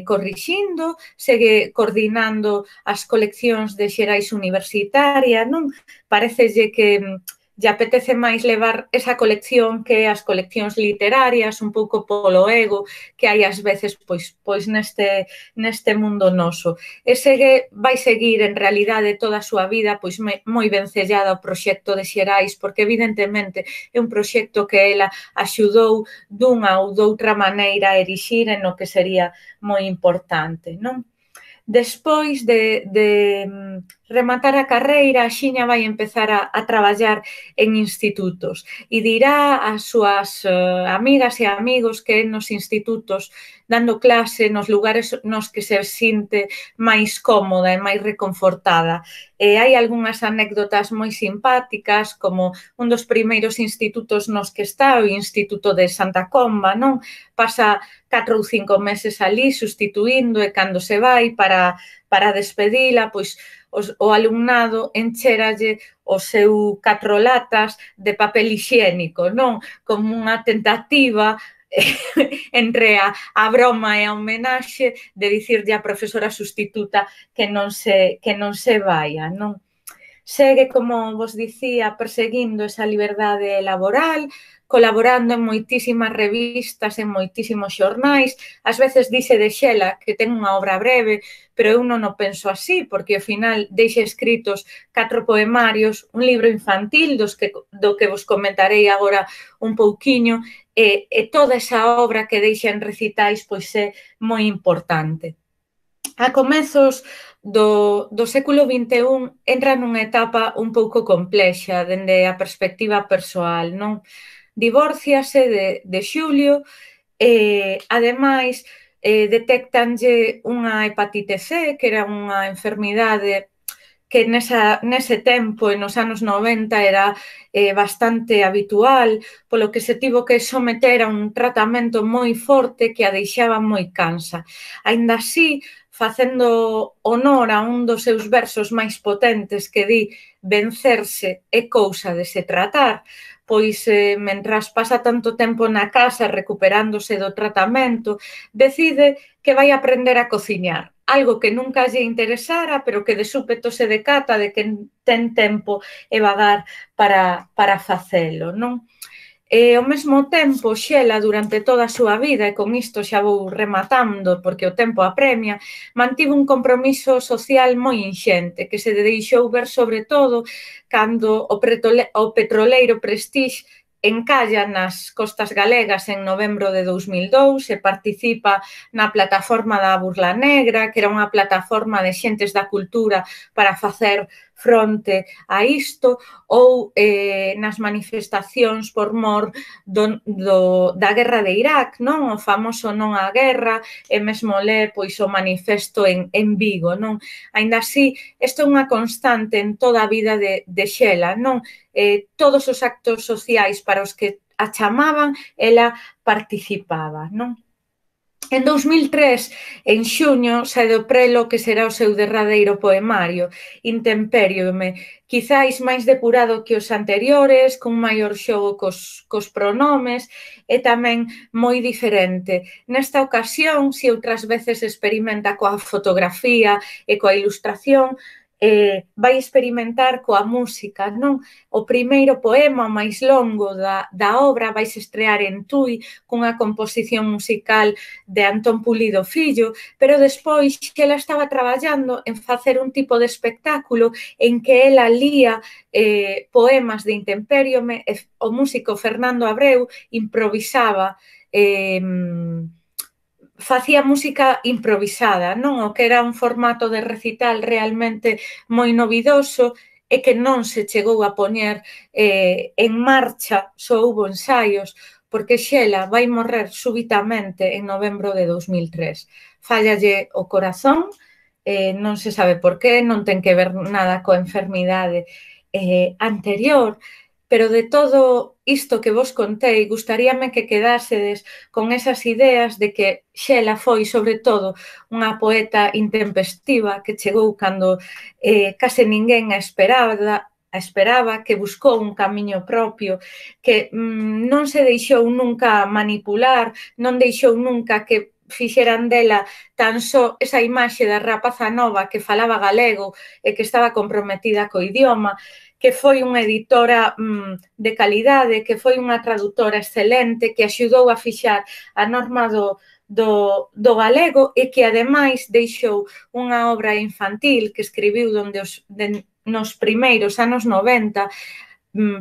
corrixindo, segue coordinando as coleccións de Xerais Universitaria, non? Parecelle que lle apetece máis levar esa colección que as coleccións literarias, un pouco polo ego que hai ás veces pois neste mundo noso. E vai seguir en realidade toda a súa vida pois moi vencellada ao proxecto de Xerais, porque evidentemente é un proxecto que ela axudou dunha ou doutra maneira a erixir en o que sería moi importante, non? Despois de rematar a carreira, a Xiña vai empezar a traballar en institutos e dirá ás súas amigas e amigos que nos institutos, dando clase nos lugares nos que se sinte máis cómoda e máis reconfortada. Hai algunhas anécdotas moi simpáticas, como un dos primeiros institutos nos que está, o Instituto de Santa Comba, non? Pasa 4 ou 5 meses ali sustituindo e cando se vai para despedila, pois o alumnado encheralle o seu 4 latas de papel hixiénico, non? Como unha tentativa entre a broma e a homenaxe de dicirlle á profesora sustituta que non se vaia, non? Segue, como vos dicía, perseguindo esa liberdade laboral, colaborando en moitísimas revistas, en moitísimos xornais. Ás veces dice de Xela que ten unha obra breve, pero eu non o penso así, porque ao final deixa escritos 4 poemarios, un libro infantil do que vos comentarei agora un pouquiño, e toda esa obra que deixa en recitais pois é moi importante. A comezos do século XXI entra nunha etapa un pouco complexa dende a perspectiva persoal, non? Divórciase de Xulio e, ademais, detectanlle unha hepatite C, que era unha enfermidade que nese tempo, nos anos 90, era bastante habitual, polo que se tivo que someter a un tratamento moi forte que a deixaba moi cansa. Aínda así, facendo honor a un dos seus versos máis potentes que di vencerse é cousa de se tratar, pois mentras pasa tanto tempo na casa recuperándose do tratamento, decide que vai aprender a cociñar, algo que nunca lle interesara, pero que de súpeto se decata de que ten tempo e vagar para facelo, non? E, ao mesmo tempo, Xela, durante toda a súa vida, e con isto xa vou rematando porque o tempo apremia, mantivo un compromiso social moi inxente, que se deixou ver sobre todo cando o petroleiro Prestige encalla nas costas galegas en novembro de 2002 e participa na plataforma da Burla Negra, que era unha plataforma de xentes da cultura para facer fronte a isto, ou nas manifestacións por mor da guerra de Irak, non? O famoso non á guerra, e mesmo pois o manifesto en Vigo, non? Aínda así, isto é unha constante en toda a vida de Xela, non? Todos os actos sociais para os que a chamaban, ela participaba, non? En 2003, en xuño, sae do prelo que será o seu derradeiro poemario, Intempériome, quizáis máis depurado que os anteriores, cun maior xogo cos pronomes e tamén moi diferente. Nesta ocasión, se outras veces experimenta coa fotografía e coa ilustración, vai experimentar coa música, non? O primeiro poema máis longo da obra vai se estrear en Tui cunha composición musical de Antón Pulido Fillo, pero despois que ela estaba traballando en facer un tipo de espectáculo en que ela lía poemas de Intempériome e o músico Fernando Abreu improvisaba facía música improvisada, non? O que era un formato de recital realmente moi novidoso e que non se chegou a poñer en marcha, só houbo ensaios, porque Xela vai morrer súbitamente en novembro de 2003. Fallalle o corazón non se sabe por qué, non ten que ver nada coa enfermidade anterior, pero de todo isto que vos contei, gustaríame que quedásedes con esas ideas de que Xela foi, sobre todo, unha poeta intempestiva que chegou cando case ninguén a esperaba, que buscou un camiño propio, que non se deixou nunca manipular, non deixou nunca que fixeran dela tan só esa imaxe da rapaza nova que falaba galego e que estaba comprometida co idioma, que foi unha editora de calidade, que foi unha traductora excelente, que axudou a fixar a norma do galego e que, ademais, deixou unha obra infantil que escribiu nos primeiros anos 90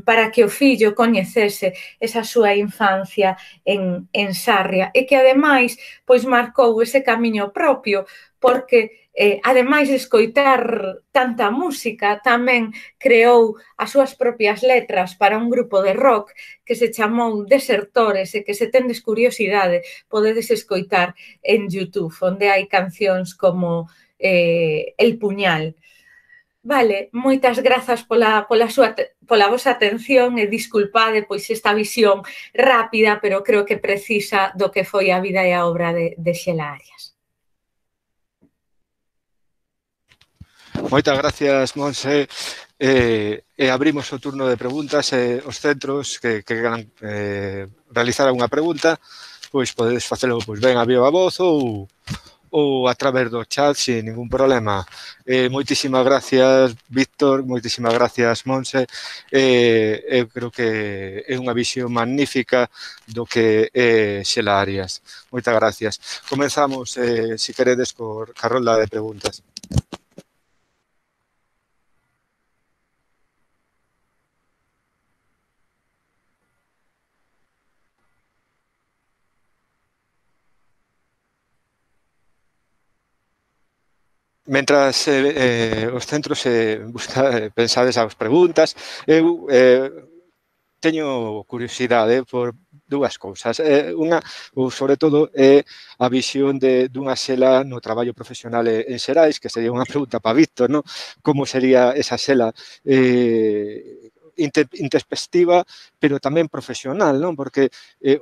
para que o fillo coñecese esa súa infancia en Sarria e que, ademais, pois marcou ese camiño propio, porque ademais de escoitar tanta música, tamén creou as súas propias letras para un grupo de rock que se chamou Desertores e que, se tendes curiosidade, podedes escoitar en YouTube, onde hai cancións como El Puñal. Vale, moitas grazas pola vosa atención e disculpade pois esta visión rápida, pero creo que precisa do que foi a vida e a obra de Xela Arias. Moitas gracias, Monse. Abrimos o turno de preguntas. Os centros que queran realizar unha pregunta, pois podedes facelo ben a viva voz ou a través do chat sin ningún problema. Moitísimas gracias, Víctor, moitísimas gracias, Monse. Eu creo que é unha visión magnífica do que é Xela Arias. Moitas gracias. Comenzamos, se queredes, ca rolda de preguntas. Mentras os centros pensades as preguntas, eu teño curiosidade por dúas cousas. Unha, ou sobre todo, é a visión dunha Xela no traballo profesional en Xerais, que sería unha pregunta para Víctor, non? Como sería esa Xela introspectiva, pero tamén profesional, non? Porque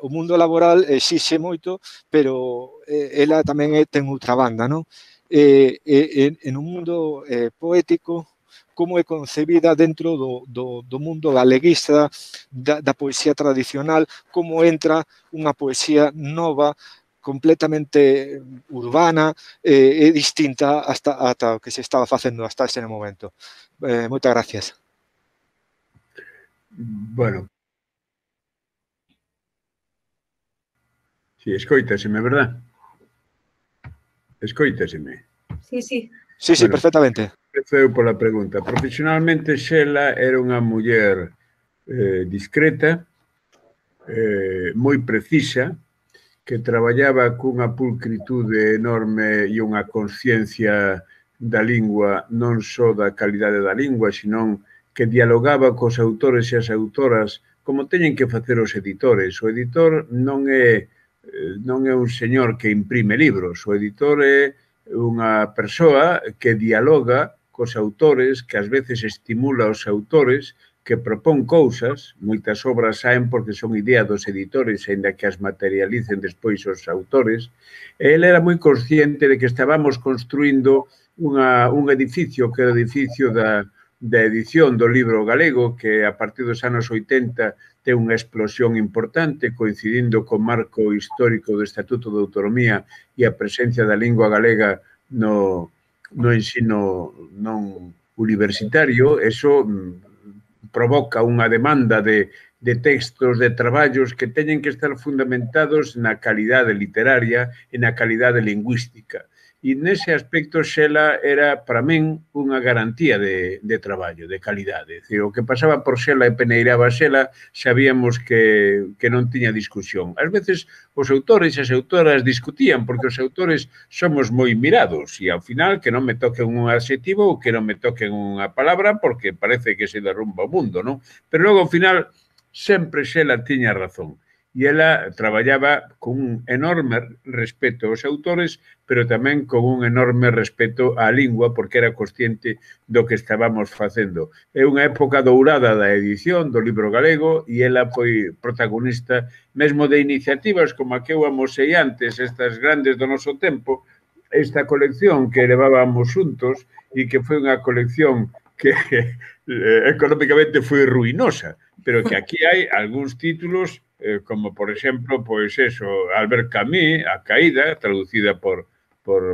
o mundo laboral exixe moito, pero ela tamén ten outra banda, non? En un mundo poético, como é concebida dentro do mundo galeguista, da poesía tradicional, como entra unha poesía nova, completamente urbana e distinta hasta o que se estaba facendo hasta ese momento. Moitas gracias. Bueno. Si, escoitaseme, verdad? Escoitaseme. Sí, sí. Sí, sí, perfectamente. Empeceu pola pregunta. Profesionalmente, Xela era unha muller discreta, moi precisa, que traballaba cunha pulcritude enorme e unha consciencia da lingua, non só da calidade da lingua, senón que dialogaba cos autores e as autoras como teñen que facer os editores. O editor non é un señor que imprime libros, o editor é unha persoa que dialoga cos autores, que ás veces estimula os autores, que propón cousas, moitas obras saen porque son idea dos editores, aínda que as materialicen despois os autores. Ele era moi consciente de que estábamos construindo un edificio, que é o edificio da edición do libro galego, que a partir dos anos 80 ten unha explosión importante, coincidindo co marco histórico do Estatuto de Autonomía e a presencia da lingua galega no ensino non universitario. Eso provoca unha demanda de textos, de traballos que teñen que estar fundamentados na calidade literaria e na calidade lingüística. E nese aspecto Xela era, para min, unha garantía de traballo, de calidade. O que pasaba por Xela e peneiraba Xela, sabíamos que non tiña discusión. Ás veces os autores e as autoras discutían, porque os autores somos moi mirados, e ao final que non me toquen un adxetivo ou que non me toquen unha palabra, porque parece que se derrumba o mundo, non? Pero logo, ao final, sempre Xela tiña razón. e ela traballaba con un enorme respeto aos autores, pero tamén con un enorme respeto á lingua, porque era consciente do que estábamos facendo. É unha época dourada da edición do libro galego e ela foi protagonista mesmo de iniciativas como a que eu amosei antes, estas grandes do noso tempo, esta colección que levábamos xuntos e que foi unha colección que económicamente foi ruinosa, pero que aquí hai algúns títulos como, por exemplo, pois eso, Albert Camus, A Caída, traducida por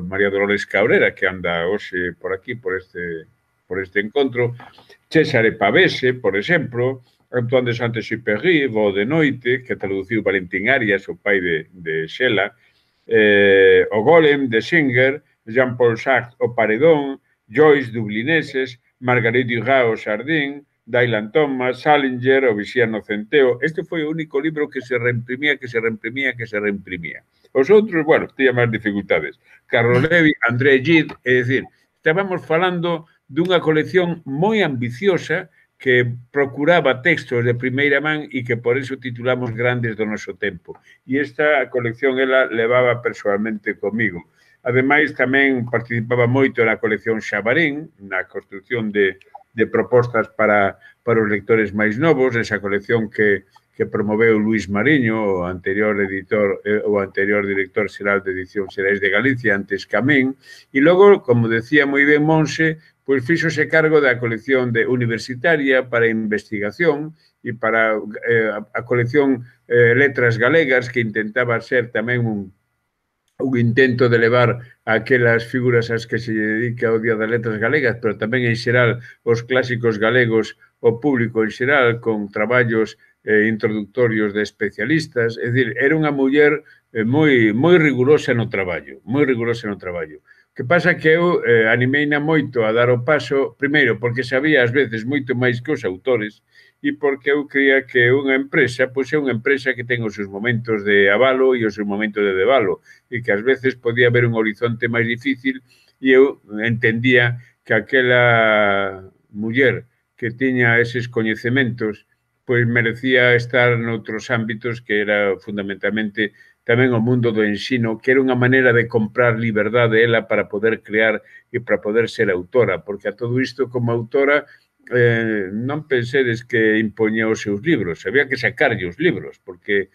María Dolores Cabrera, que anda hoxe por aquí, por este encontro, Césare Pavese, por exemplo, Antoine de Saint-Exupéry, Voo de Noite, que traduciu Valentín Arias, o pai de Xela, o Golem, de Singer, Jean-Paul Sartre, o Paredón, Joyce, Dublineses, Marguerite Duras, o Sardín, Dylan Thomas, Salinger, o Vixiano Centeo. Este foi o único libro que se reimprimía. Os outros, bueno, tiña máis dificultades. Carlo Levi, André Gide, é dicir, estábamos falando dunha colección moi ambiciosa que procuraba textos de primeira man e que por eso titulamos Grandes do noso tempo. E esta colección ela levaba persoalmente comigo. Ademais, tamén participaba moito na colección Xabarín, na construcción de propostas para os lectores máis novos, esa colección que promoveu Luís Mariño, o anterior editor, o anterior director xeral de Edicións Xerais de Galicia, antes que a min, e logo, como decía moi ben Monse, pois fíxose cargo da colección universitaria para investigación e para a colección Letras Galegas, que intentaba ser tamén un intento de levar aquelas figuras ás que se dedica o Día das Letras Galegas, pero tamén en xeral os clásicos galegos, o público en xeral, con traballos introductorios de especialistas. É dicir, era unha muller moi rigurosa no traballo, O que pasa que eu animeina moito a dar o paso, primeiro, porque sabía ás veces moito máis que os autores, e porque eu creía que unha empresa, pois é unha empresa que ten os seus momentos de avalo e os seus momentos de debalo, e que ás veces podía haber un horizonte máis difícil, e eu entendía que aquela muller que tiña eses coñecementos, pois merecía estar noutros ámbitos que era fundamentalmente tamén o mundo do ensino, que era unha maneira de comprar liberdade ela para poder crear e para poder ser autora, porque a todo isto como autora non pensedes que impoñía os seus libros, había que sacarlle os libros, porque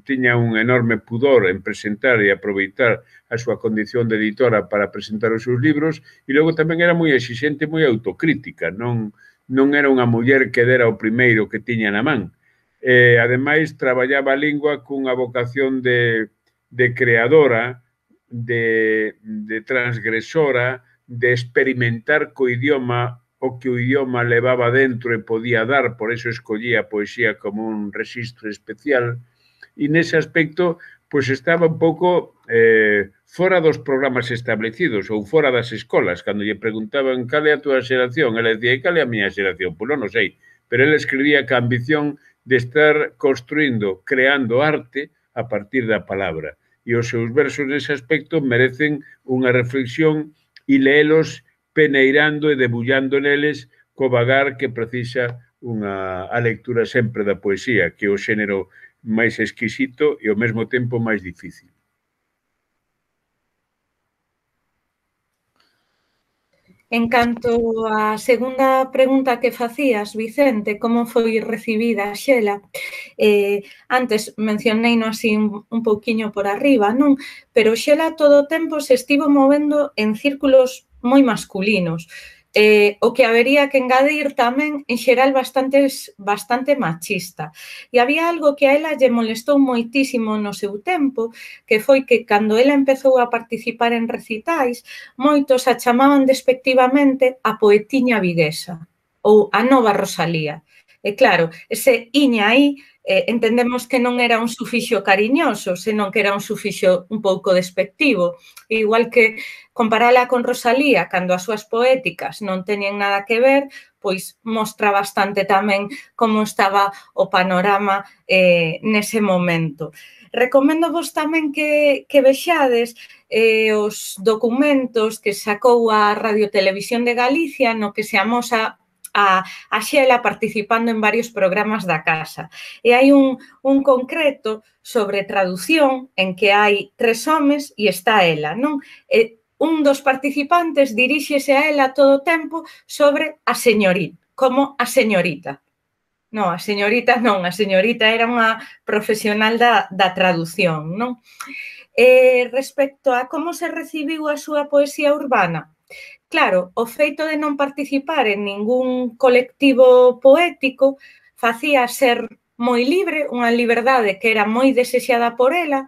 tiña un enorme pudor en presentar e aproveitar a súa condición de editora para presentar os seus libros, e logo tamén era moi exixente, moi autocrítica, non era unha muller que dera o primeiro que tiña na man. Ademais, traballaba a lingua cunha vocación de creadora, de transgresora, de experimentar co idioma o que o idioma levaba dentro e podía dar, por eso escollía a poesía como un rexistro especial, e nese aspecto pois estaba un pouco fora dos programas establecidos ou fora das escolas. Cando lle preguntaban cal é a túa xeración, ela decía, e cal é a miña xeración? Pois non o sei, pero ela escribía ca ambición de estar construindo, creando arte a partir da palabra. E os seus versos nese aspecto merecen unha reflexión e leelos peneirando e debullando neles co vagar que precisa a lectura sempre da poesía, que é o xénero máis exquisito e ao mesmo tempo máis difícil. En canto á segunda pregunta que facías, Vicente, como foi recibida Xela, antes mencioneino así un pouquiño por arriba, non? Pero Xela todo o tempo se estivo movendo en círculos moi masculinos, o que habería que engadir tamén, en xeral, bastante machista. E había algo que a ela lle molestou moitísimo no seu tempo, que foi que cando ela empezou a participar en recitais, moitos a chamaban despectivamente a poetiña viguesa ou a nova Rosalía. E claro, ese iña aí entendemos que non era un sufixo cariñoso, senón que era un sufixo un pouco despectivo. Igual que comparala con Rosalía, cando as súas poéticas non teñen nada que ver, pois mostra bastante tamén como estaba o panorama nese momento. Recomendo vos tamén que vexades os documentos que sacou a Radio Televisión de Galicia no que se amosa a Xela participando en varios programas da casa. E hai un concreto sobre traducción en que hai 3 homes e está ela, non? E un dos participantes diríxese a ela todo o tempo sobre a señorita, como a señorita. Non, a señorita non, a señorita era unha profesional da traducción, non? Respecto a como se recibiu a súa poesía urbana, claro, o feito de non participar en ningún colectivo poético facía ser moi libre, unha liberdade que era moi desexada por ela,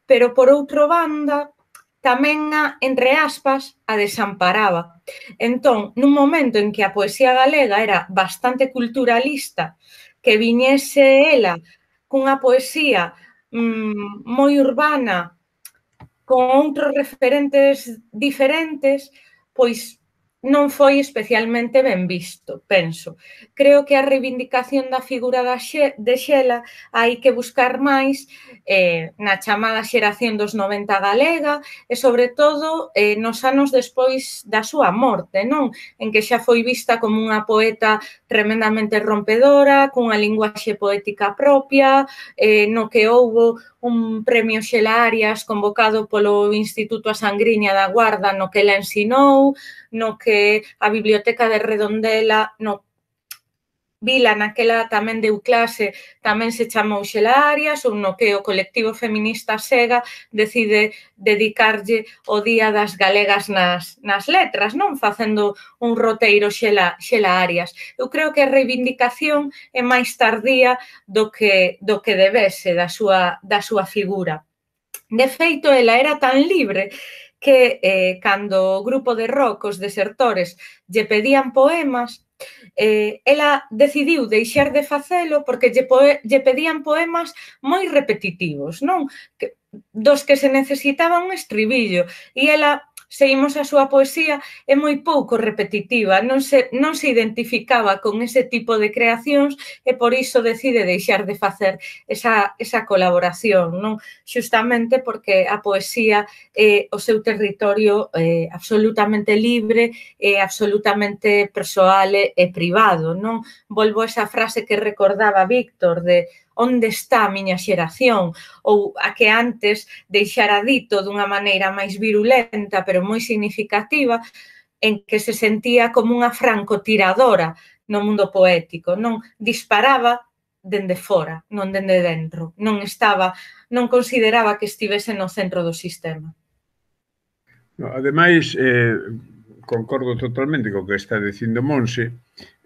pero por outro banda tamén entre aspas, a desamparaba. Entón, nun momento en que a poesía galega era bastante culturalista, que viñese ela cunha poesía moi urbana, con outros referentes diferentes, pois non foi especialmente ben visto, penso. Creo que a reivindicación da figura de Xela hai que buscar máis na chamada xeración dos 90 galega e, sobre todo, nos anos despois da súa morte, non? En que xa foi vista como unha poeta tremendamente rompedora, cunha linguaxe poética propia, no que houbo un premio Xela Arias convocado polo Instituto A Sangriña da Guarda no que ela ensinou, no que a Biblioteca de Redondela, no Vila, naquela tamén deu clase, tamén se chamou Xela Arias, ou no que o colectivo feminista Sega decide dedicarlle o Día das Galegas nas letras, non? Facendo un roteiro Xela Arias. Eu creo que a reivindicación é máis tardía do que debese da súa figura. De feito, ela era tan libre que cando o grupo de rock, os Desertores, lle pedían poemas, ela decidiu deixar de facelo porque lle pedían poemas moi repetitivos, non? Dos que se necesitaba un estribillo, e ela, seguimos a súa poesía, é moi pouco repetitiva, non se identificaba con ese tipo de creacións e por iso decide deixar de facer esa colaboración, non? Xustamente porque a poesía é o seu territorio absolutamente libre e absolutamente persoal e privado, non? Volvo a esa frase que recordaba Víctor de onde está a miña xeración, ou a que antes deixara dito dunha maneira máis virulenta, pero moi significativa, en que se sentía como unha francotiradora no mundo poético, non? Disparaba dende fora, non dende dentro, non consideraba que estivese no centro do sistema. Ademais, concordo totalmente co que está dicindo Monse,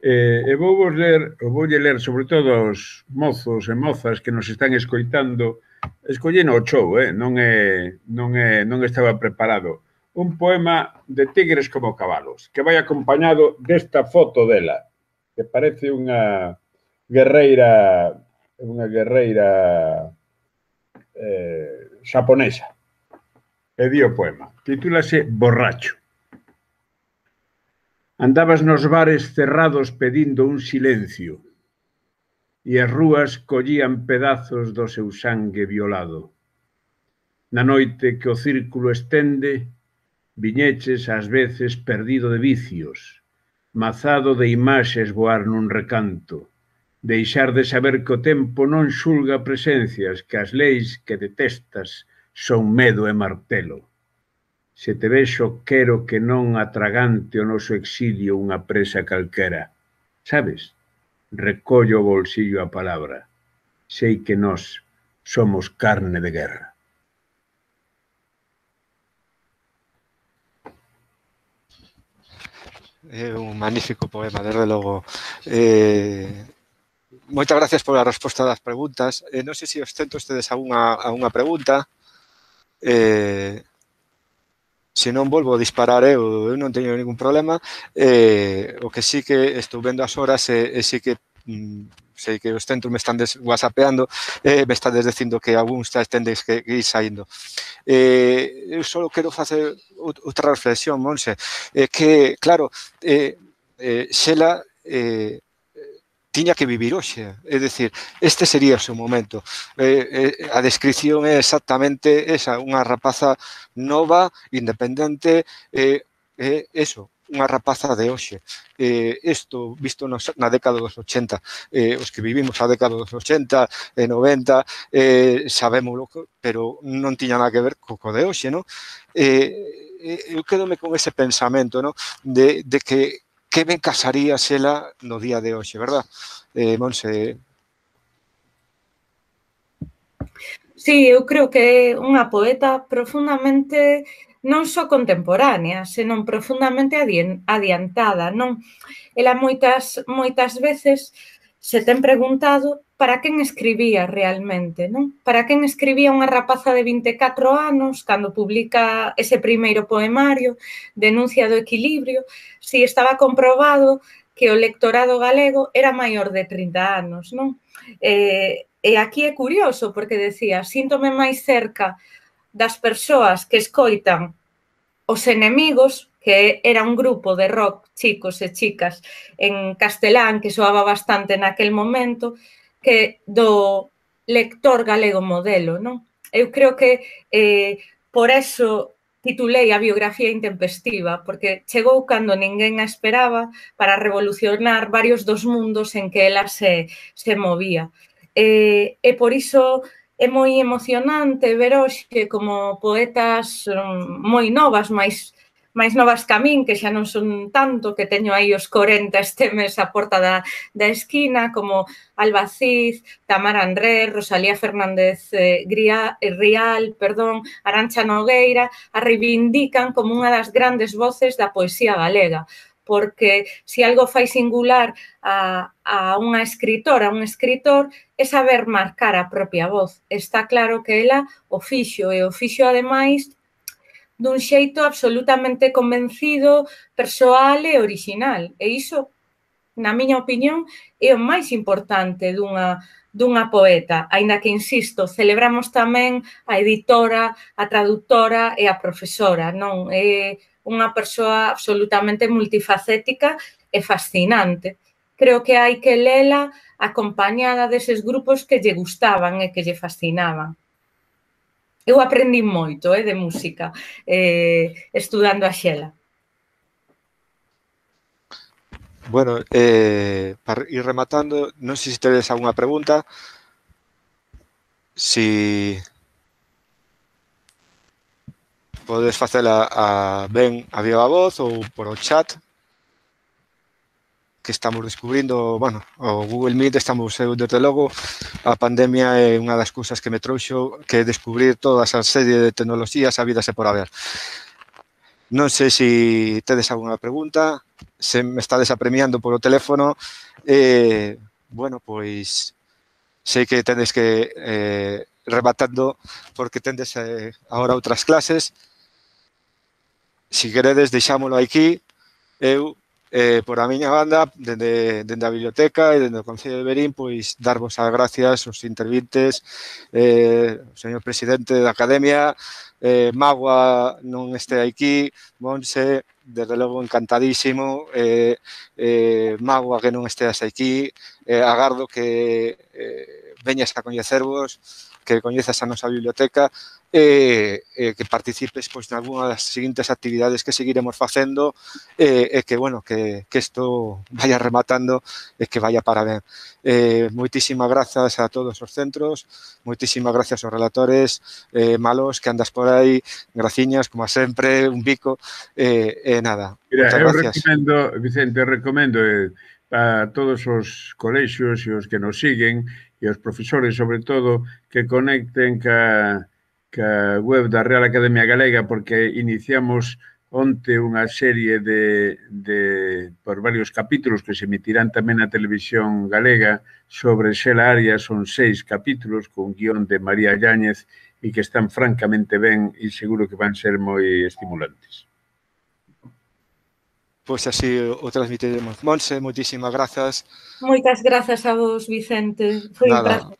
e voulle ler sobre todo aos mozos e mozas que nos están escoitando, escolleno o chou, non estaba preparado, un poema de Tigres como cabalos, que vai acompañado desta foto dela, que parece unha guerreira xaponesa. E di o poema, titúlase Borracho. Andabas nos bares cerrados pedindo un silencio e as rúas collían pedazos do seu sangue violado. Na noite que o círculo estende, viñeches ás veces perdido de vicios, mazado de imaxes voar nun recanto, deixar de saber que o tempo non xulga presencias, que as leis que detestas son medo e martelo. Se te vexo, quero que non atragante o noso exilio unha presa calquera. Sabes? Recollo o bolsillo a palabra. Sei que nós somos carne de guerra. É un magnífico poema, desde logo. Moitas gracias pola resposta das preguntas. Non sei se os centros tedes algunha pregunta. Se non volvo a disparar, eu non teño ningún problema. O que sí que estou vendo as horas e sí que sei que os centros me están whatsappeando, me estades dicindo que algúns tendes que ir saindo. Eu só quero facer outra reflexión, Monse, que, claro, Xela tiña que vivir hoxe, é dicir, este sería o seu momento. A descripción é exactamente esa, unha rapaza nova, independente, eso, unha rapaza de hoxe. Isto, visto na década dos 80, os que vivimos a década dos 80 e 90, sabémoslo, pero non tiña nada que ver co de hoxe, non? Eu quedome con ese pensamento, non? De que ben casaría xela no día de hoxe, verdad? Monse... Sí, eu creo que é unha poeta profundamente non só contemporánea, senón profundamente adiantada, non? Ela moitas veces se ten preguntado para quen escribía realmente, non? Para quen escribía unha rapaza de 24 anos cando publica ese primeiro poemario, Denuncia do equilibrio, si estaba comprobado que o lectorado galego era maior de 30 anos, non? E aquí é curioso, porque decía, síntome máis cerca das persoas que escoitan Os Enemigos, que era un grupo de rock, chicos e chicas, en castelán, que soaba bastante naquel momento, que do lector galego modelo, non? Eu creo que por eso titulei a biografía intempestiva, porque chegou cando ninguén a esperaba para revolucionar varios dos mundos en que ela se movía. E por iso é moi emocionante ver hoxe como poetas moi novas, máis novas que a min, que xa non son tanto, que teño aí os 40 este mes a porta da esquina, como Alba Cid, Tamara Andrés, Rosalía Fernández Rial, Arantxa Nogueira, a reivindican como unha das grandes voces da poesía galega, porque se algo fai singular a unha escritora, a un escritor, é saber marcar a propia voz. Está claro que ela o fixo, e o fixo, ademais, dun xeito absolutamente convencido, persoal e orixinal. E iso, na miña opinión, é o máis importante dunha poeta, aínda que, insisto, celebramos tamén a editora, a traductora e a profesora, non? É unha persoa absolutamente multifacética e fascinante. Creo que hai que lela acompañada deses grupos que lle gustaban e que lle fascinaban. Eu aprendi moito de música estudando a Xela. Bueno, para ir rematando, non sei se tedes alguna pregunta. Si podes facela ben a viva voz ou por o chat, que estamos descubrindo, bueno, o Google Meet estamos, desde logo, a pandemia é unha das cousas que me trouxo, que descubrir toda esa serie de tecnoloxías a vida se por haber. Non sei se tedes alguna pregunta, se me estades apremiando polo teléfono, bueno, pois sei que tedes que rematando porque tendes agora outras clases. Si queredes, deixámolo aquí. Eu, por a miña banda, dende a biblioteca e dende o Concello de Verín, pois darvos as gracias aos intervintes, o señor presidente da Academia, Magua non este aquí, Monse, desde logo encantadísimo, Magua que non esteas aquí, agardo que veñas a coñecervos, que coñezas a nosa biblioteca e que participes pois nalgúna das seguintes actividades que seguiremos facendo e que, bueno, que isto vaya rematando e que vaya para ben. Moitísimas grazas a todos os centros, moitísimas grazas aos relatores, Malos, que andas por aí, graciñas, como sempre, un bico, nada. Mira, Moitas eu gracias. recomendo, Vicente, recomendo a todos os colexios e os que nos siguen e os profesores, sobre todo, que conecten ca web da Real Academia Galega, porque iniciamos onte unha serie por varios capítulos que se emitirán tamén na televisión galega sobre Xela Arias. Son 6 capítulos con guión de María Yáñez e que están francamente ben e seguro que van ser moi estimulantes. Pois así o transmitiremos. Monse, moitísimas grazas. Moitas grazas a vos, Vicente. Foi un prazer.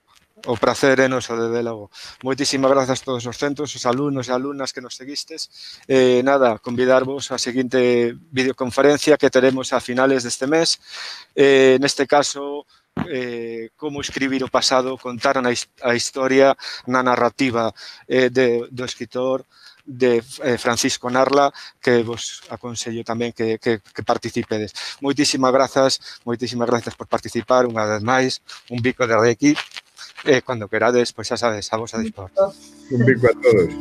O prazer é noso, desde logo. Moitísimas grazas a todos os centros, os alumnos e alumnas que nos seguistes. Nada, convidarvos á seguinte videoconferencia que teremos a finales deste mes. Neste caso, como escribir o pasado, contar a historia na narrativa do escritor de Francisco Narla, que vos aconsello tamén que participedes. Moitísimas grazas por participar unha vez máis, un bico de aquí, cando querades, pois xa sabes, a vos a dispor. Un bico a todos.